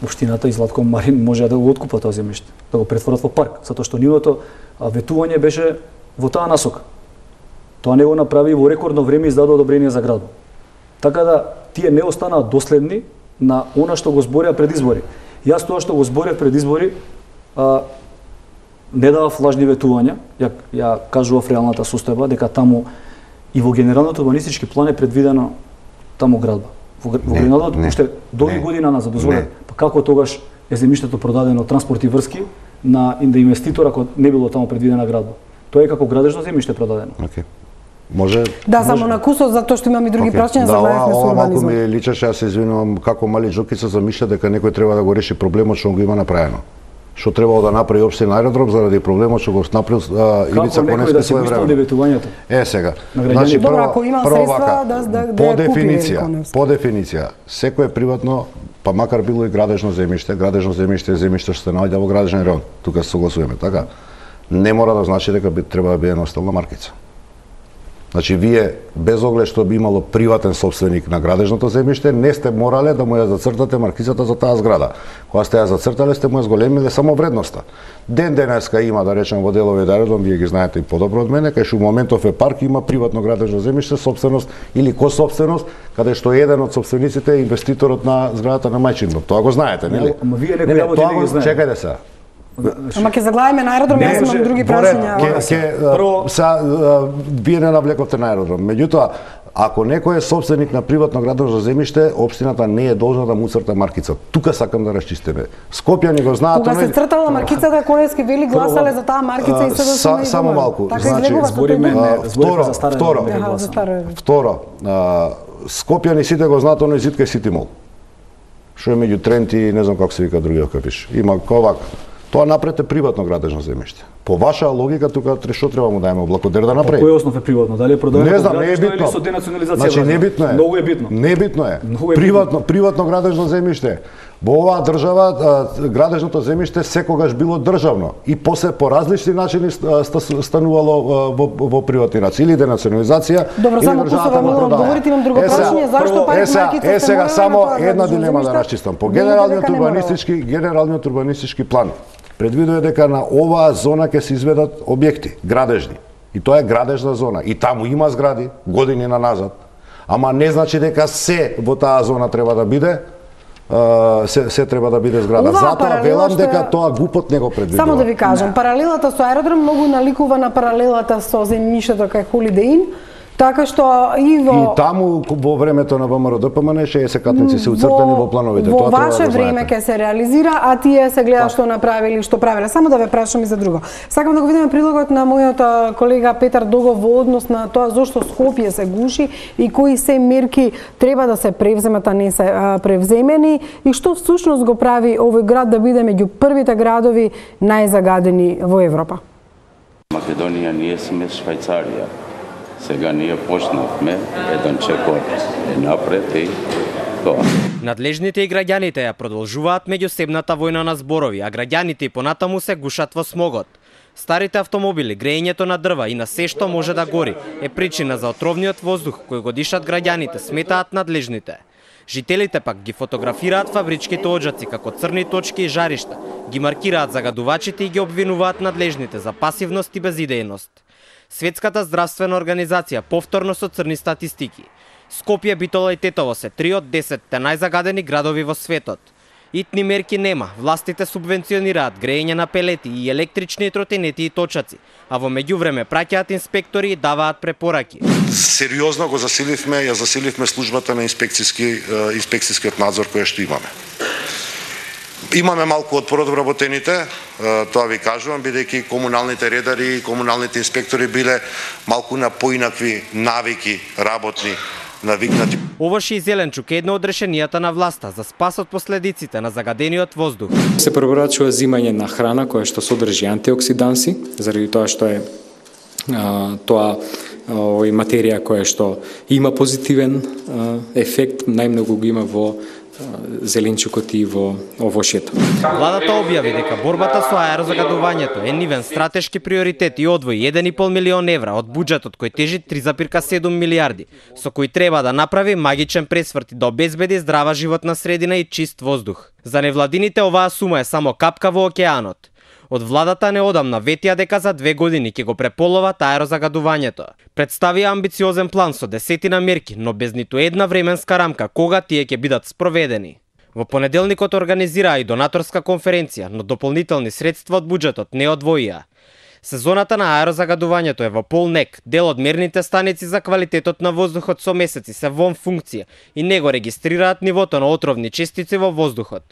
Општината и Златко Марин може да го откупат тоа земјиште, да го претворат во парк, затоа што нивното ветување беше во таа насока. Тоа не го направи и во рекордно време издаде одобрение за градот. Така да тие не останаа доследни на она што го зборија пред избори. Јас тоа што го зборев пред избори а, не давав лажни ветувања, ја, ја кажував реалната состојба дека таму и во генералниот урбанистички план е предвидено таму градба. Во, во генералниот уште долги година назад дозволете. Па како тогаш е земјиштето продадено транспорт и врски на инвеститор ако не било таму предвидена градба? Тоа е како градежно земјиште продадено. Okay. Може. Да, само може. На кусот затоа што имам и други okay. прашања за да, со малку ми личеше, јас се извинувам, како мали Џокица замишља дека некој треба да го реши проблемот што го има направено. Што требало да направи општина аеродром заради проблемот што го направил Ивица Коневски да свој време. Е сега. Значи прво, ако има средства да да по дефиниција, по дефиниција, секое приватно, па макар било и градежно земјиште, градежно земјиште е земјиште што се наоѓа во градежен район. Тука се согласуваме, така? Не мора да значи дека би треба да биде едноставна маркица. Значи, вие, без оглед што би имало приватен собственик на градежното земјиште, не сте морале да му ја зацртате маркицата за таа зграда. Кога сте ја зацртале, сте му ја зголемиле само вредноста. Ден денеска има, да речем, во делови од аеродром, вие ги знаете и подобро од мене, кај што моментов е парк има приватно градежно земјиште, собственост или кособственост, каде што еден од собствениците е инвеститорот на зградата на мајчин дом. Тоа го знаете, нели? Ама вие некој работи не ги знаете. Чекајте се. Ама ќе заглавиме на аеродром, јас имам други прашања. Прво, са, вие не навлековте на аеродром. Меѓутоа, ако некој е собственик на приватно градежно земјиште, општината не е должна да му црта маркица. Тука сакам да расчистиме. Скопјани го знаат. Кога се цртала маркицата, Коневски вели гласале за таа маркица и се да се само малку. Значи, збориме второ, второ, второ, Скопјани сите го знаат оној зид кај Сити Мол. Што е меѓу Трент и не знам како се вика другиот кафиш. Има ковак. Тоа напред е приватно градежно земјиште. По ваша логика тука што треба му дајме облакодер да направи? Кој основ е приватно? Дали е продадено не знам, не е битно. Или со денационализација? Значи не битно е. Многу е битно. Не битно е. Приватно, приватно градежно земјиште. Во оваа држава градежното земјиште секогаш било државно и после по различни начини станувало во, во приватизација или денационализација. Добро, само кусова му одговорите, имам друго прашање, зашто парите марките е сега само една дилема да расчистам. По генералниот урбанистички, генералниот урбанистички план предвидува дека на оваа зона ќе се изведат објекти градежни. И тоа е градежна зона. И таму има згради години на назад. Ама не значи дека се во таа зона треба да биде се се треба да биде зграда. Затоа велам дека тоа ГУП-от не го предвидува. Само да ви кажам, паралелата со аеродром многу наликува на паралелата со земјиштето кај Holiday Inn. Така што и во И таму во времето на ВМРО-ДПМН шеесет катници се уцртани во плановите. Во ваше време ќе се реализира, а тие се гледа што направиле, што правеле. Само да ве прашам и за друго. Сакам да го видиме прилогот на мојот колега Петар Догов во однос на тоа зошто Скопје се гуши и кои се мерки треба да се превземат, а не се а, превземени и што всушност го прави овој град да биде меѓу првите градови најзагадени во Европа. Македонија ние сме Швајцарија. Сега ние почнавме, еден чекор е напред и тоа. Надлежните и граѓаните ја продолжуваат меѓусебната војна на зборови, а граѓаните и понатаму се гушат во смогот. Старите автомобили, грејењето на дрва и на се што може да гори е причина за отровниот воздух кој го дишат граѓаните, сметаат надлежните. Жителите пак ги фотографираат фабричките оджаци како црни точки и жаришта, ги маркираат загадувачите и ги обвинуваат надлежните за пасивност и безидејност. Светската здравствена организација повторно со црни статистики. Скопје, Битола и Тетово се три од десетте најзагадени градови во светот. Итни мерки нема, властите субвенционираат грејење на пелети и електрични тротинети и точаци, а во меѓувреме праќаат инспектори и даваат препораки. Сериозно го засиливме, ја засиливме службата на инспекциски инспекцијскиот надзор кој што имаме. Имаме малку отпор од вработените, тоа ви кажувам, бидејќи комуналните редари и комуналните инспектори биле малку на поинакви навики работни навикнати. Овош и Зеленчук е едно од решенијата на власта за спас од последиците на загадениот воздух. Се препорачува зимање на храна која што содржи антиоксиданси, заради тоа што е а, тоа овој материја која што има позитивен а, ефект, најмногу го има во зеленчукот и во овошјето. Владата објави дека борбата со аерозагадувањето е нивен стратешки приоритет и одвои еден и пол милион евра од буџетот кој тежи три зарез седум милијарди, со кој треба да направи магичен пресврт и да обезбеди здрава животна средина и чист воздух. За невладините оваа сума е само капка во океанот. Од владата неодамна ветија дека за две години ќе го преполоват аерозагадувањето. Представија амбициозен план со десетина мерки, но без ниту една временска рамка кога тие ќе бидат спроведени. Во понеделникот организираа и донаторска конференција, но дополнителни средства од буџетот не одвоија. Сезоната на аерозагадувањето е во полнек, дел од мерните станици за квалитетот на воздухот со месеци се вон функција и не го регистрираат нивото на отровни честици во воздухот.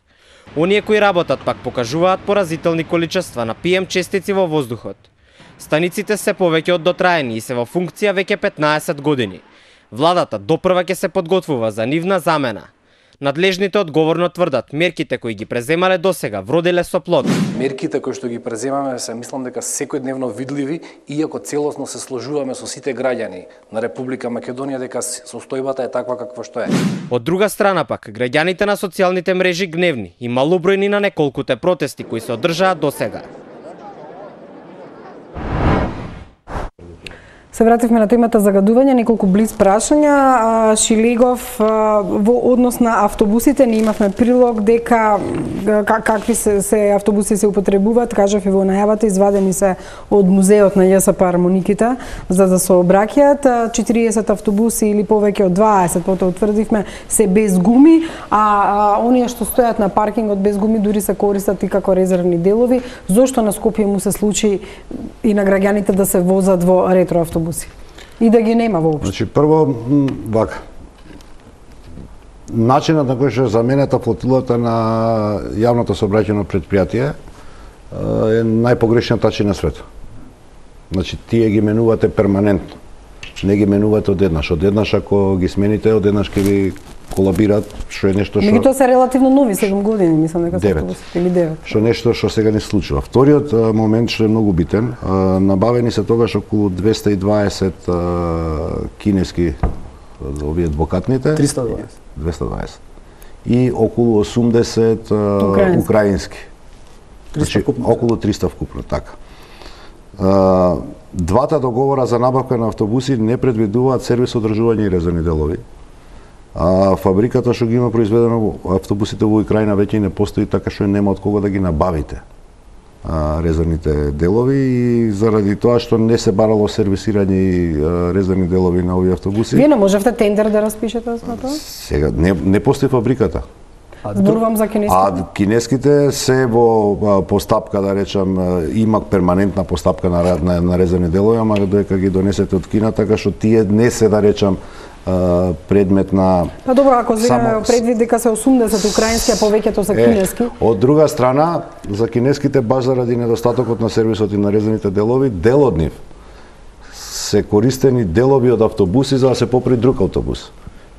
Оние кои работат пак покажуваат поразителни количества на пи ем честици во воздухот. Станиците се повеќе од дотраени и се во функција веќе петнаесет години. Владата допрва ќе се подготвува за нивна замена. Надлежните одговорно тврдат, мерките кои ги преземале досега вродиле со плод. Мерките кои што ги преземаме се мислам дека секојдневно видливи, иако целосно се сложуваме со сите граѓани на Република Македонија дека состојбата е таква каква што е. Од друга страна пак, граѓаните на социјалните мрежи гневни и малобројни на неколкуте протести кои се одржаа досега. Се вративме на темата загадување, неколку близ прашања. Шилегов, во однос на автобусите, не имавме прилог дека какви се, се автобуси се употребуваат, кажав и во најавата, извадени се од музеот на ЈСП Армониките, за да се обраќаат. четириесет автобуси или повеќе од дваесет, потоа утврдивме, се без гуми, а, а оние што стојат на паркингот без гуми дури се користат и како резервни делови. Зошто на Скопје му се случи и на граѓаните да се возат во ретро автобуси? И да ги нема воопшто. Значи, прво, вака, начинот на кој што е заменета флотилата на јавното сообраќајно предпријатие е најпогрешниот начин на светот. Значи, тие ги менувате перманентно. Не ги менувате одеднаш. Одеднаш, ако ги смените, одеднаш ќе ви колабираат, што е нешто што... Меѓутоа се релативно нови, седум години, мислам дека се автобусите, или девет. Што нешто што сега не случува. Вториот момент што е многу битен, набавени се тогаш околу двесте и дваесет кинески, овие двокатните. триста и дваесет. двесте и дваесет. И околу осумдесет украински. украински. Значи, околу триста вкупно, така. Двата договора за набавка на автобуси не предвидуваат сервис одржување и резервни делови. А фабриката што ги има произведено автобусите во Украина веќе не постои, така што нема од кого да ги набавите а, резервните делови, и заради тоа што не се барало сервисирање и а, резервни делови на овие автобуси. Вие не можевте тендер да распишете за тоа? Сега не не постои фабриката. Зборувам за кинеските. А кинеските се во постапка, да речам, има перманентна постапка на на, на резервни делови, ама додека ги донесете од Кина, така што тие не се, да речам, предмет на... Па добро, ако сега предвид дека се осумдесет украински, а повеќето се кинески. Е, од друга страна, за кинеските, баш заради недостатокот на сервисот и на резервните делови, дел од нив се користени делови од автобуси за да се попри друг автобус.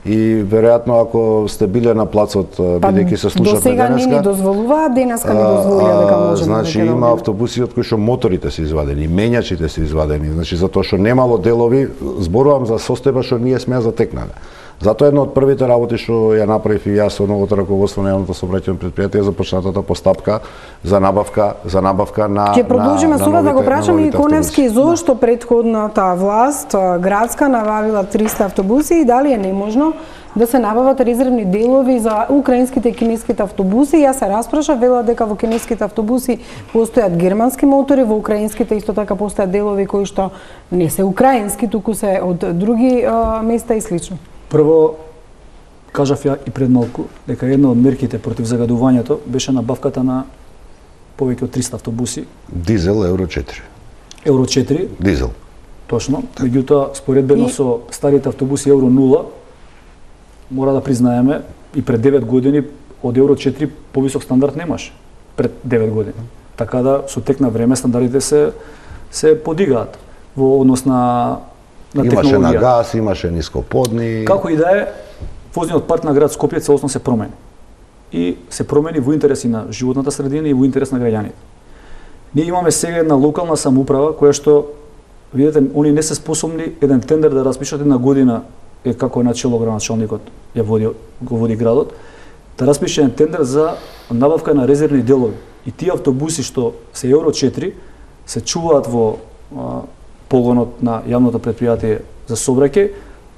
И веројатно ако сте биле на плацот, па, бидејќи се слушате денеска, до сега не ни дозволува, денеска ни дозволија дека можеме. Значи да има автобуси од кои што моторите се извадени, мењачите се извадени, значи затоа што немало делови, зборувам за состојба што ние сме ја затекнале. Затоа една од првите работи што ја направив и јас со новото раководство на јавното сообраќајно предпријатие е започнатата постапка за набавка, за набавка на Ќе продолжиме со да го прашаме и Коневски зошто претходната власт градска набавила триста автобуси и дали е неможно да се набават резервни делови за украинските и кинеските автобуси. Јас се распрашав, вела дека во кинеските автобуси постојат германски мотори, во украинските исто така постојат делови кои што не се украински, туку се од други а, места и слично. Прво, кажав ја и пред малку, дека една од мерките против загадувањето беше набавката на повеќе од триста автобуси. Дизел Евро четири. Евро четири. Дизел. Точно. Меѓутоа, споредбено и... со старите автобуси Евро нула, мора да признаеме, и пред девет години од Евро четири повисок стандард немаше. Пред девет години. Така да, со тек на време, стандардите се, се подигаат во однос на на имаше технологија. Имаше на газ, имаше нископодни. Како и да е, возниот парк на град Скопје целосно се промени. И се промени во интереси на животната средина и во интерес на граѓаните. Ние имаме сега една локална самоуправа која што, видите, они не се способни еден тендер да распишат една година, е како е начело градоначалникот ја води, го води градот, да распише еден тендер за набавка на резервни делови. И тие автобуси што се Евро четири се чуваат во а, погонот на јавното предпријатие за сообраќај,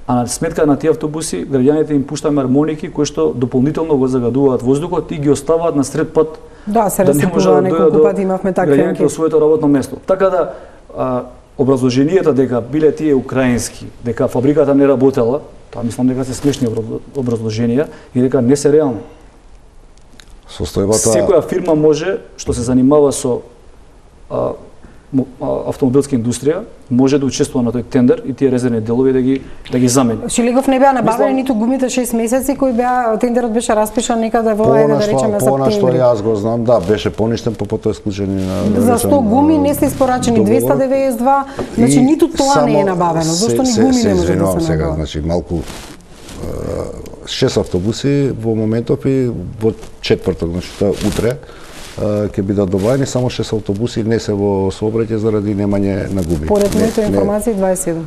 а на сметка на тие автобуси граѓаните им пуштаме армоники кои што дополнително го загадуваат воздухот и ги оставаат на сред пат. Да, се расипува, да неколку пати имавме такви граѓаните во своето работно место. Така да а, образложението дека биле тие украински, дека фабриката не работела, тоа мислам дека се смешни образложенија и дека не се реални. Состојбата... Секоја фирма може, што се занимава со а, автомобилска индустрија, може да учествува на тој тендер и тие резервни делови да ги да ги замени. Шилегов не беа набавени ниту гумите шест месеци кои беа, тендерот беше распишан некаде во ајде да речеме септември. По што јас го знам, да, беше поништен, по потоа исклучени на за сто гуми не се испорачени двеста деветдесет и два, значи ниту тоа не е набавено. Зошто ни гуми не може да се сега, набават? значи малку шест автобуси во моментов и во четврток, значи тоа утре ќе бидат добавени, само шест автобуси не се во сообраќај заради немање на гуми. Поред моите информации дваесет и седум.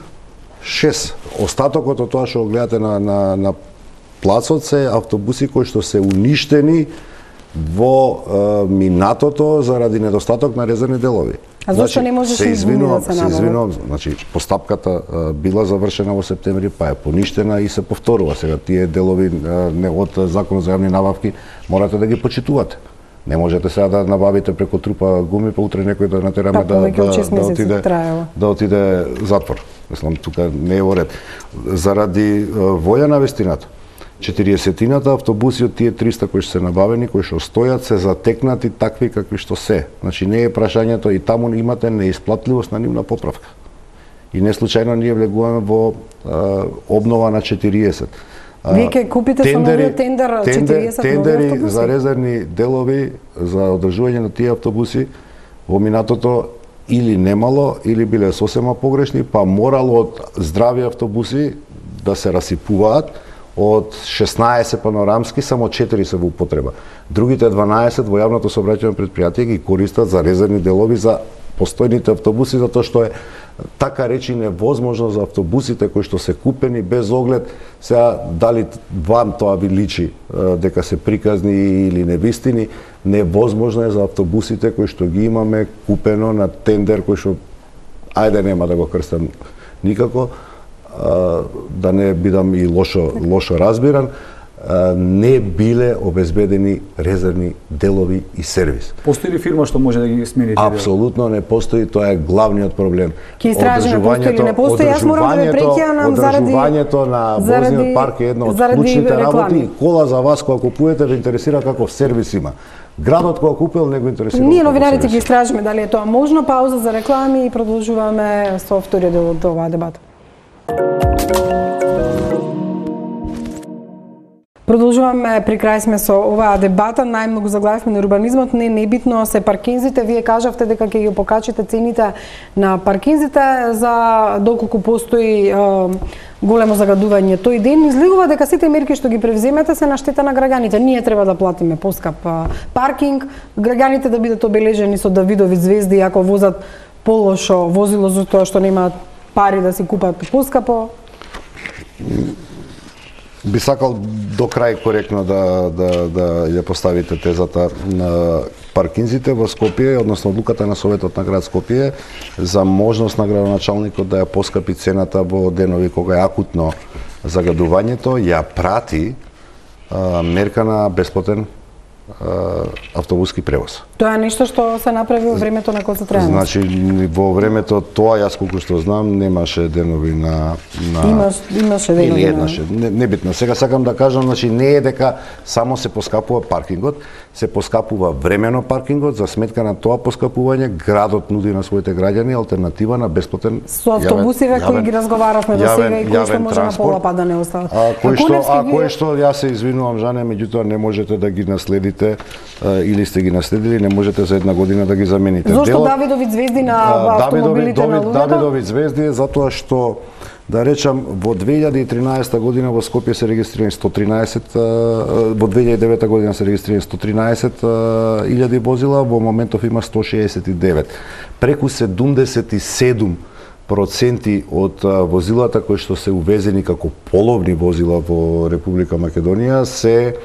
шест. Остатокот од тоа што го гледате на на на плацот се автобуси кои што се уништени во е, минатото заради недостаток на резервни делови. А зашто значи, не можеше се извинувам, да се се набават? извинувам, значи постапката е, била завршена во септември, па е поништена и се повторува. Сега тие делови е, не од Законот за јавни набавки морате да ги почитувате. Не можете сега да набавите преку трупа гуми, па утре некој да натераме па, да, да, да, отиде, трајава. да отиде затвор. Мислам, тука не е во ред. Заради воја на вестината, четириесетината автобуси од тие триста кои што се набавени, кои што стојат, се затекнати такви какви што се. Значи не е прашањето и таму имате неисплатливост на нивна поправка. И не случајно ние влегуваме во а, обнова на четириесет. Вие ќе купите со новиот тендер четириесет тендери нови автобуси? за резервни делови за одржување на тие автобуси во минатото или немало, или биле сосема погрешни, па морало од здрави автобуси да се расипуваат. Од шеснаесет панорамски, само четири се во употреба. Другите дванаесет во јавното сообраќајно предпријатие ги користат за резервни делови за постојните автобуси, затоа што е така речи невозможно за автобусите кои што се купени без оглед, сега дали вам тоа ви личи дека се приказни или невистини, невозможно е за автобусите кои што ги имаме купено на тендер кој што, ајде нема да го крстам никако, да не бидам и лошо лошо разбиран, не биле обезбедени резервни делови и сервис. Постои ли фирма што може да ги смени? Апсолутно не постои, тоа е главниот проблем. Ќе истражиме постои или не постои, јас морам да ве прекинам заради одржувањето на возниот парк е една од клучните работи. Кола за вас кога купувате ве интересира каков сервис има. Градот кога купил не го интересира. Ние новинарите ги истражиме дали е тоа можно. Пауза за реклами и продолжуваме со вториот дел од оваа дебата. Продолжуваме, при крај сме со оваа дебата. Најмногу заглавивме на урбанизмот, не небитно се паркинзите. Вие кажавте дека ќе ги покачите цените на паркинзите за доколку постои е, големо загадување тој ден. Излегува дека сите мерки што ги превземете се на штета на граѓаните. Ние треба да платиме поскап паркинг, граѓаните да бидат обележени со Давидови звезди ако возат полошо возило затоа што немаат пари да си купат поскапо. Би сакал до крај коректно да, да, да ја поставите тезата на паркинзите во Скопје, односно одлуката на Советот на град Скопје за можност на градоначалникот да ја поскапи цената во денови кога е акутно загадувањето, ја прати а, мерка на бесплатен а, автобуски превоз. Тоа е нешто што се направи во времето на Коцатрејанов. Значи во времето тоа јас колку што знам немаше денови на на Имаш, имаше денови. Или еднаше, не, небитно. Сега сакам да кажам, значи не е дека само се поскапува паркингот, се поскапува времено паркингот, за сметка на тоа поскапување градот нуди на своите граѓани алтернатива на бесплатен со автобусиве кои ги разговаравме до сега и кои што може на пола па да не остават. А кои што а кои што јас се извинувам Жане, меѓутоа не можете да ги наследите а, или сте ги наследили, не можете за една година да ги замените. Зошто Давидови звезди на автомобилите на луѓето? Давидови звезди затоа што Да речам, во две илјади и тринаесета година во Скопје се регистрирани сто тринаесет, во две илјади и девета година се регистрирани сто тринаесет илјади возила, во моментов има сто шеесет и девет. Преку седумдесет и седум проценти од возилата кои што се увезени како половни возила во Република Македонија се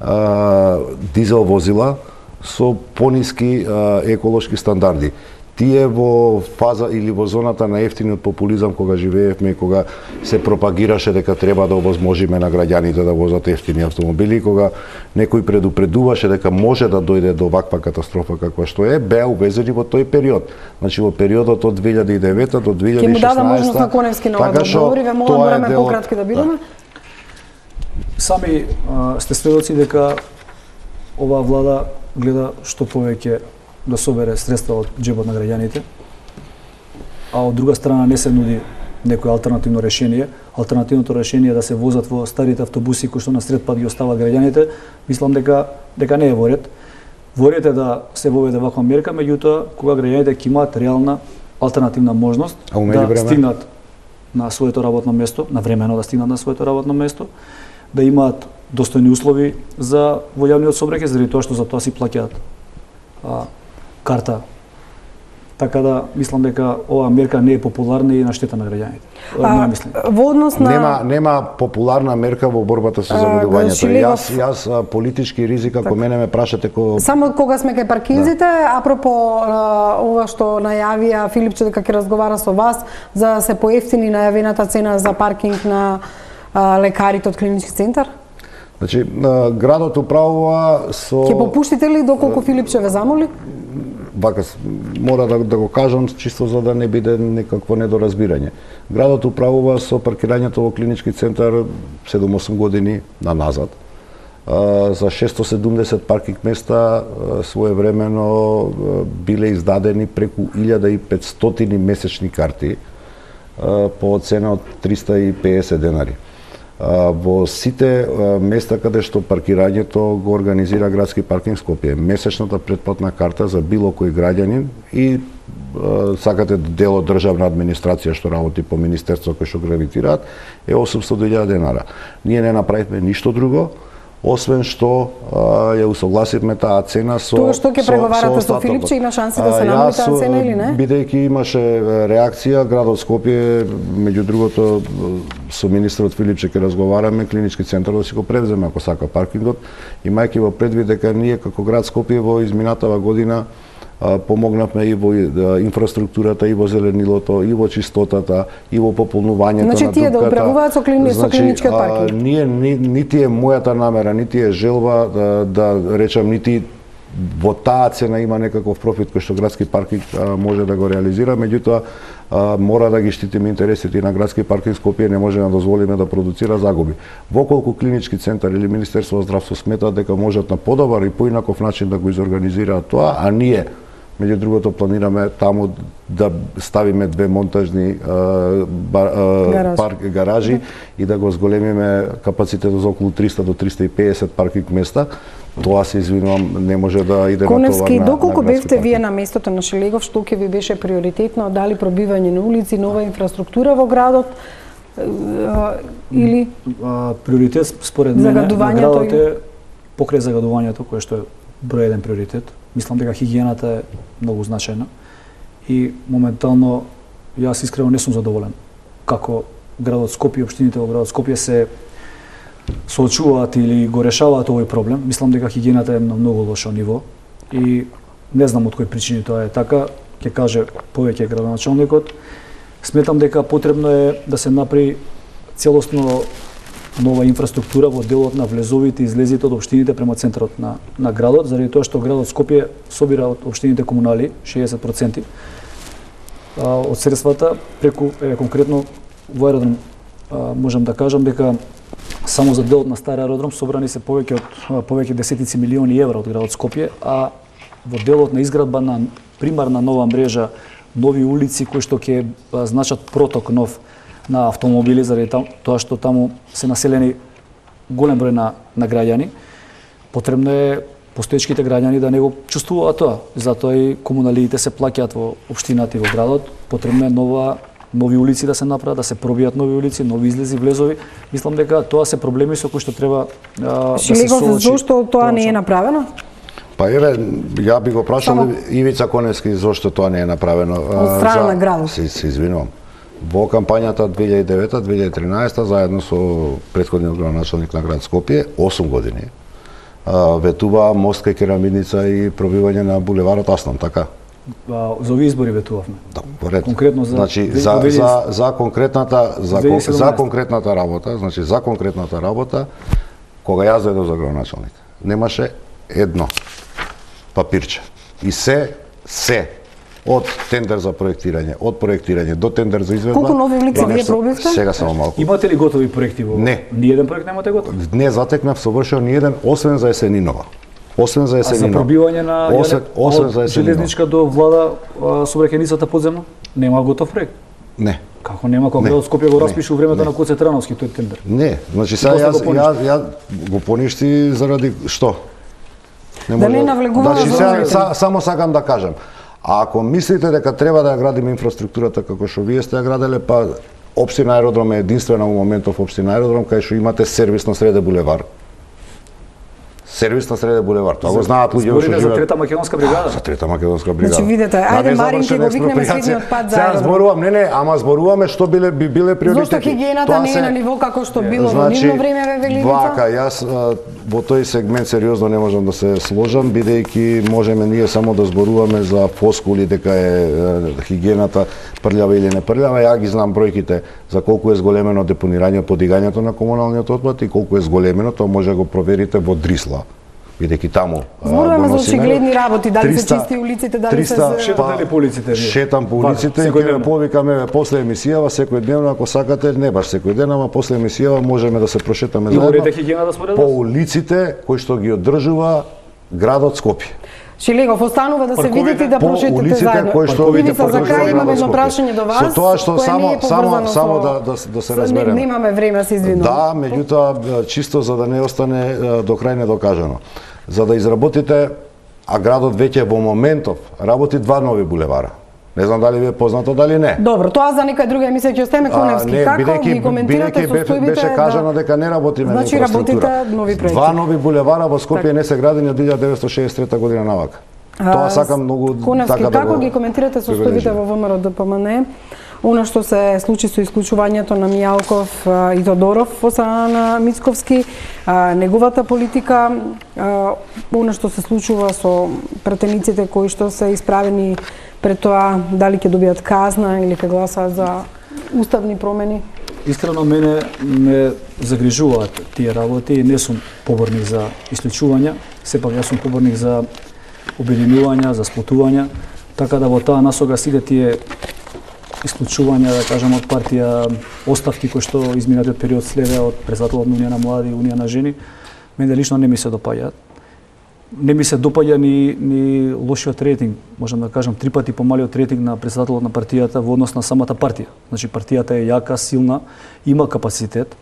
а, дизел возила со пониски а, еколошки стандарди. Тие во фаза или во зоната на ефтиниот популизам кога живеевме и кога се пропагираше дека треба да овозможиме на граѓаните да возат ефтини автомобили, кога некој предупредуваше дека може да дојде до ваква катастрофа каква што е, беа увезени во тој период. Значи во периодот од две илјади и девета до две илјади и шеснаесета. Ќе му дадам можност на Коневски на ова да одговори, ве молам, мораме пократки да бидеме. Сами а, сте сведоци дека оваа влада гледа што повеќе да собере средства од џебот на граѓаните, а од друга страна не се нуди некој алтернативно решение. Алтернативното решение е да се возат во старите автобуси кои што на сред пат ги оставаат граѓаните. Мислам дека дека не е во ред. Во ред е да се воведе ваква мерка, меѓутоа кога граѓаните ќе имаат реална алтернативна можност да време? стигнат на своето работно место, на времено да стигнат на своето работно место, да имаат достојни услови за во јавниот сообраќај, заради тоа што за тоа си плаќаат а, карта. Така да мислам дека оваа мерка не е популарна и на штета на граѓаните. А, во однос на нема нема популарна мерка во борбата со загадувањето. Јас јас политички ризик ако мене ме прашате ко Само кога сме кај паркинзите, да. апропо а, ова што најавија Филипче дека ќе разговара со вас за да се поевтини најавената цена за паркинг на а, лекарите од клинички центар? Значи, градот управува со Ќе попуштите ли доколку Филипче ве замоли? Вака, мора да, да го кажам чисто за да не биде некакво недоразбирање. Градот управува со паркирањето во клинички центар седум-осум години на назад. За шестстотини и седумдесет паркинг места своевремено биле издадени преку илјада и петстотини месечни карти по цена од триста и пеесет денари. Во сите места каде што паркирањето го организира градски паркинг Скопје, месечната претплатна карта за било кој граѓанин и сакате дел од државна администрација што работи по министерство кој што гравитираат е осумстотини илјади денара. Ние не направивме ништо друго освен што а, ја усогласивме таа цена со Тоа што ќе преговарате со Филипче, има шанси да се намали таа цена или не? Бидејќи имаше реакција, градот Скопје, меѓу другото со министерот Филипче ќе разговараме, клинички центар да си го превземе ако сака паркингот, имајќи во предвид дека ние како град Скопје во изминатава година помогнавме и во инфраструктурата, и во зеленилото, и во чистотата, и во пополнувањето значи, на дупката. Значи тие да управуваат со, клини... значи, со клиничкиот паркинг? Ние, ни, нити е мојата намера, нити е желба да, да речам, нити во таа цена има некаков профит кој што градски паркинг а, може да го реализира, меѓутоа а, мора да ги штитиме интересите на градски паркинг Скопје, не може да дозволиме да продуцира загуби. Воколку клинички центар или Министерство за здравство сметаат дека можат на подобар и поинаков начин да го изорганизираат тоа, а ние меѓу другото планираме таму да ставиме две монтажни а, бар, а, Гараж. парк гаражи и да го зголемиме капацитетот за околу триста до триста и пеесет паркинг места. Тоа се извинувам, не може да иде Коневски, на това на доколку на бевте вие на местото на Шилегов, што ќе ви беше приоритетно, дали пробивање на улици, нова инфраструктура во градот или а, приоритет според мене на градот е покрај загадувањето кое што е број еден приоритет. Мислам дека хигиената е многу значајна и моментално јас искрено не сум задоволен како градот Скопје, општините во градот Скопје се соочуваат или го решаваат овој проблем. Мислам дека хигиената е на многу лошо ниво и не знам од кои причини тоа е така, ќе каже повеќе градоначалникот. Сметам дека потребно е да се направи целосно нова инфраструктура во делот на влезовите и излезите од општините према центарот на, на градот, заради тоа што градот Скопје собира од општините комунали шеесет проценти а, од средствата преку е, конкретно во аеродром а, можам да кажам дека само за делот на стари аеродром собрани се повеќе од повеќе десетици милиони евра од градот Скопје, а во делот на изградба на примарна нова мрежа, нови улици кои што ќе значат проток нов на автомобили, заради тоа што таму се населени голем број на, на граѓани. Потребно е постоечките граѓани да не го чувствуваат тоа. Затоа и комуналиите се плаќаат во општината и во градот. Потребно е нова нови улици да се направат, да се пробијат нови улици, нови излези, влезови. Мислам дека тоа се проблеми со кои што треба а, да се соочи. Зошто тоа не е направено? Па еве, ја би го прашал Само... Ивица Коневски зошто тоа не е направено. Од страна на градот. Се, се извинувам. Во кампањата две илјади и девета две илјади и тринаесета заедно со претходниот градоначалник на град Скопје, осум години, ветува мост кај Керамидница и пробивање на булеварот Аснам, така? За овие избори ветувавме. Да, во ред. Конкретно за значи за за за конкретната за за конкретната работа, значи за конкретната работа кога јас дојдов за градоначалник, немаше едно папирче. И се се од тендер за проектирање, од проектирање до тендер за изведба. Колку нови улици вие пробивте? Сега само малку. Имате ли готови проекти во? Не. Ни еден проект немате готов? Не затекнав совршено ни еден, освен за Есенинова. Освен за Есенинова. А за пробивање на освен, освен за железничка до влада сообраќајницата подземна? Нема готов проект? Не. Како нема, кога од Скопје го распишу времето на Коце Трановски тој тендер? Не, значи сега јас ја ја го поништи заради што? Не да не навлегуваме значи, сега, са, само сакам да кажам. А ако мислите дека треба да ја градиме инфраструктурата како што вие сте ја граделе, па општина Аеродром е единствена во моментов општина Аеродром кај што имате сервис на Среде булевар. Сервис на Среде булевар. Тоа го знаат луѓе што живеат. За трета македонска бригада. За трета македонска бригада. Значи видете, ајде Марин ќе го викнеме следниот пат за. Сега зборувам, не не, ама зборуваме што биле би биле приоритети. Зошто хигиената не е на ниво како што било во значи, нивно време ве Велиница? Вака, јас во тој сегмент сериозно не можам да се сложам, бидејќи можеме ние само да зборуваме за фоскули дека е хигиената прљава или не прљава. Ја ги знам бројките за колку е зголемено депонирање, подигањето на комуналниот отпад и колку е зголемено, тоа може да го проверите во Дрисла. Бидејќи таму зборуваме за очигледни работи, дали се чисти улиците, дали се шетате ли по улиците? Шетам по улиците и ќе повикаме после емисијава секој дневно ако сакате, не баш секој ден, ама после емисијава можеме да се прошетаме заедно по улиците кои што ги одржува градот Скопје. Шилегов, останува да се видите и да прошетате заедно. Кои што Ивица, за крај имаме едно прашање до вас. Со тоа што само само само да да да се разбереме. Немаме време, се извинувам. Да, меѓутоа чисто за да не остане до крај недокажано. За да изработите, а градот веќе во моментов работи два нови булевара. Не знам дали ви е познато, дали не. Добро, тоа за некоја друга емисија ќе остеме Коневски. Не, како бидејќи, ги коментирате состојбите? Беше кажано дека не работиме значи, на инфраструктура. Значи работите нови проекти. Два нови булевара во Скопје так. Не се градени од илјада деветстотини шеесет и трета година навака. Тоа сакам многу Коневски, така да како го... ги коментирате состојбите во ВМРО Д П М Н? Она што се случи со исклучувањето на Мијалков и Тодоров во страна на Мицковски, неговата политика, она што се случува со пратениците кои што се исправени пред тоа дали ќе добијат казна или ќе гласаат за уставни промени? Искрено мене ме загрижуваат тие работи и не сум поборник за исклучување, сепак јас сум поборник за обединување, за сплотување, така да во таа насока сите тие исклучувања, да кажам, од партија, оставки кои што изминатиот период следе од председателот на Унија на млади и Унија на жени, мене лично не ми се допаѓаат. Не ми се допаѓа ни, ни лошиот рейтинг, можам да кажам, три пати помалиот рейтинг на председателот на партијата во однос на самата партија. Значи партијата е јака, силна, има капацитет.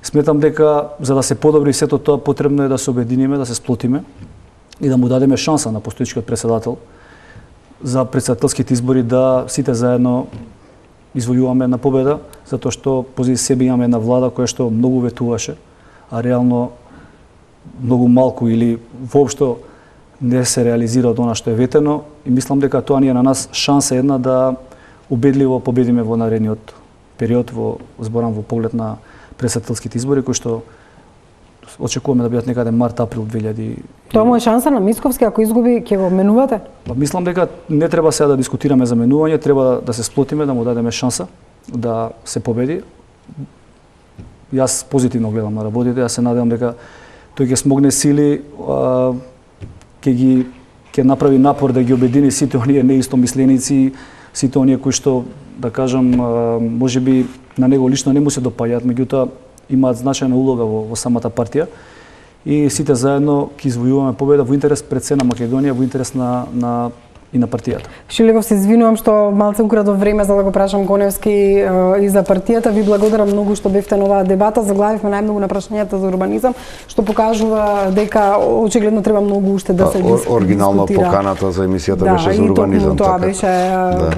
Сметам дека за да се подобри сето тоа потребно е да се обединиме, да се сплотиме и да му дадеме шанса на постоечкиот председател за председателските избори да сите заедно извојуваме на победа, затоа што пози себе имаме една влада која што многу ветуваше, а реално многу малку или воопшто не се реализира од она што е ветено и мислам дека тоа ни е на нас шанса една да убедливо победиме во наредниот период во зборам во поглед на председателските избори кои што очекуваме да бидат некаде март-април две илјади. Тоа му е шанса на Мицковски, ако изгуби, ќе го менувате? Па, мислам дека не треба сега да дискутираме за менување, треба да се сплотиме, да му дадеме шанса да се победи. Јас позитивно гледам на работите, јас се надевам дека тој ќе смогне сили, а, ќе ги ќе направи напор да ги обедини сите оние неистомисленици, сите оние кои што, да кажам, а, можеби на него лично не му се допаѓаат, меѓутоа имаат значајна улога во, во самата партија и сите заедно ќе извојуваме победа во интерес пред се на Македонија, во интерес на, на и на партијата. Шилегов, се извинувам што малце украдов време за да го прашам Коневски и за партијата. Ви благодарам многу што бевте на оваа дебата. Заглавивме најмногу на прашањата за урбанизам, што покажува дека очигледно треба многу уште да се дискутира. Оригинално поканата за емисијата да, беше за урбанизам. Да, и тоа беше да.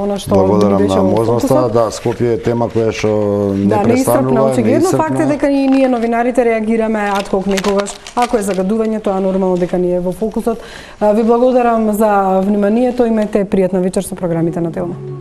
Она што благодарам беше на можноста. Да, Скопје е тема која што не да, престанува. Очигледно факт е дека и ние новинарите реагираме адхок некогаш. Ако е загадување, тоа нормално дека ни е во фокусот. Ви благодарам за вниманието, имајте пријатна вечер со програмите на Телма.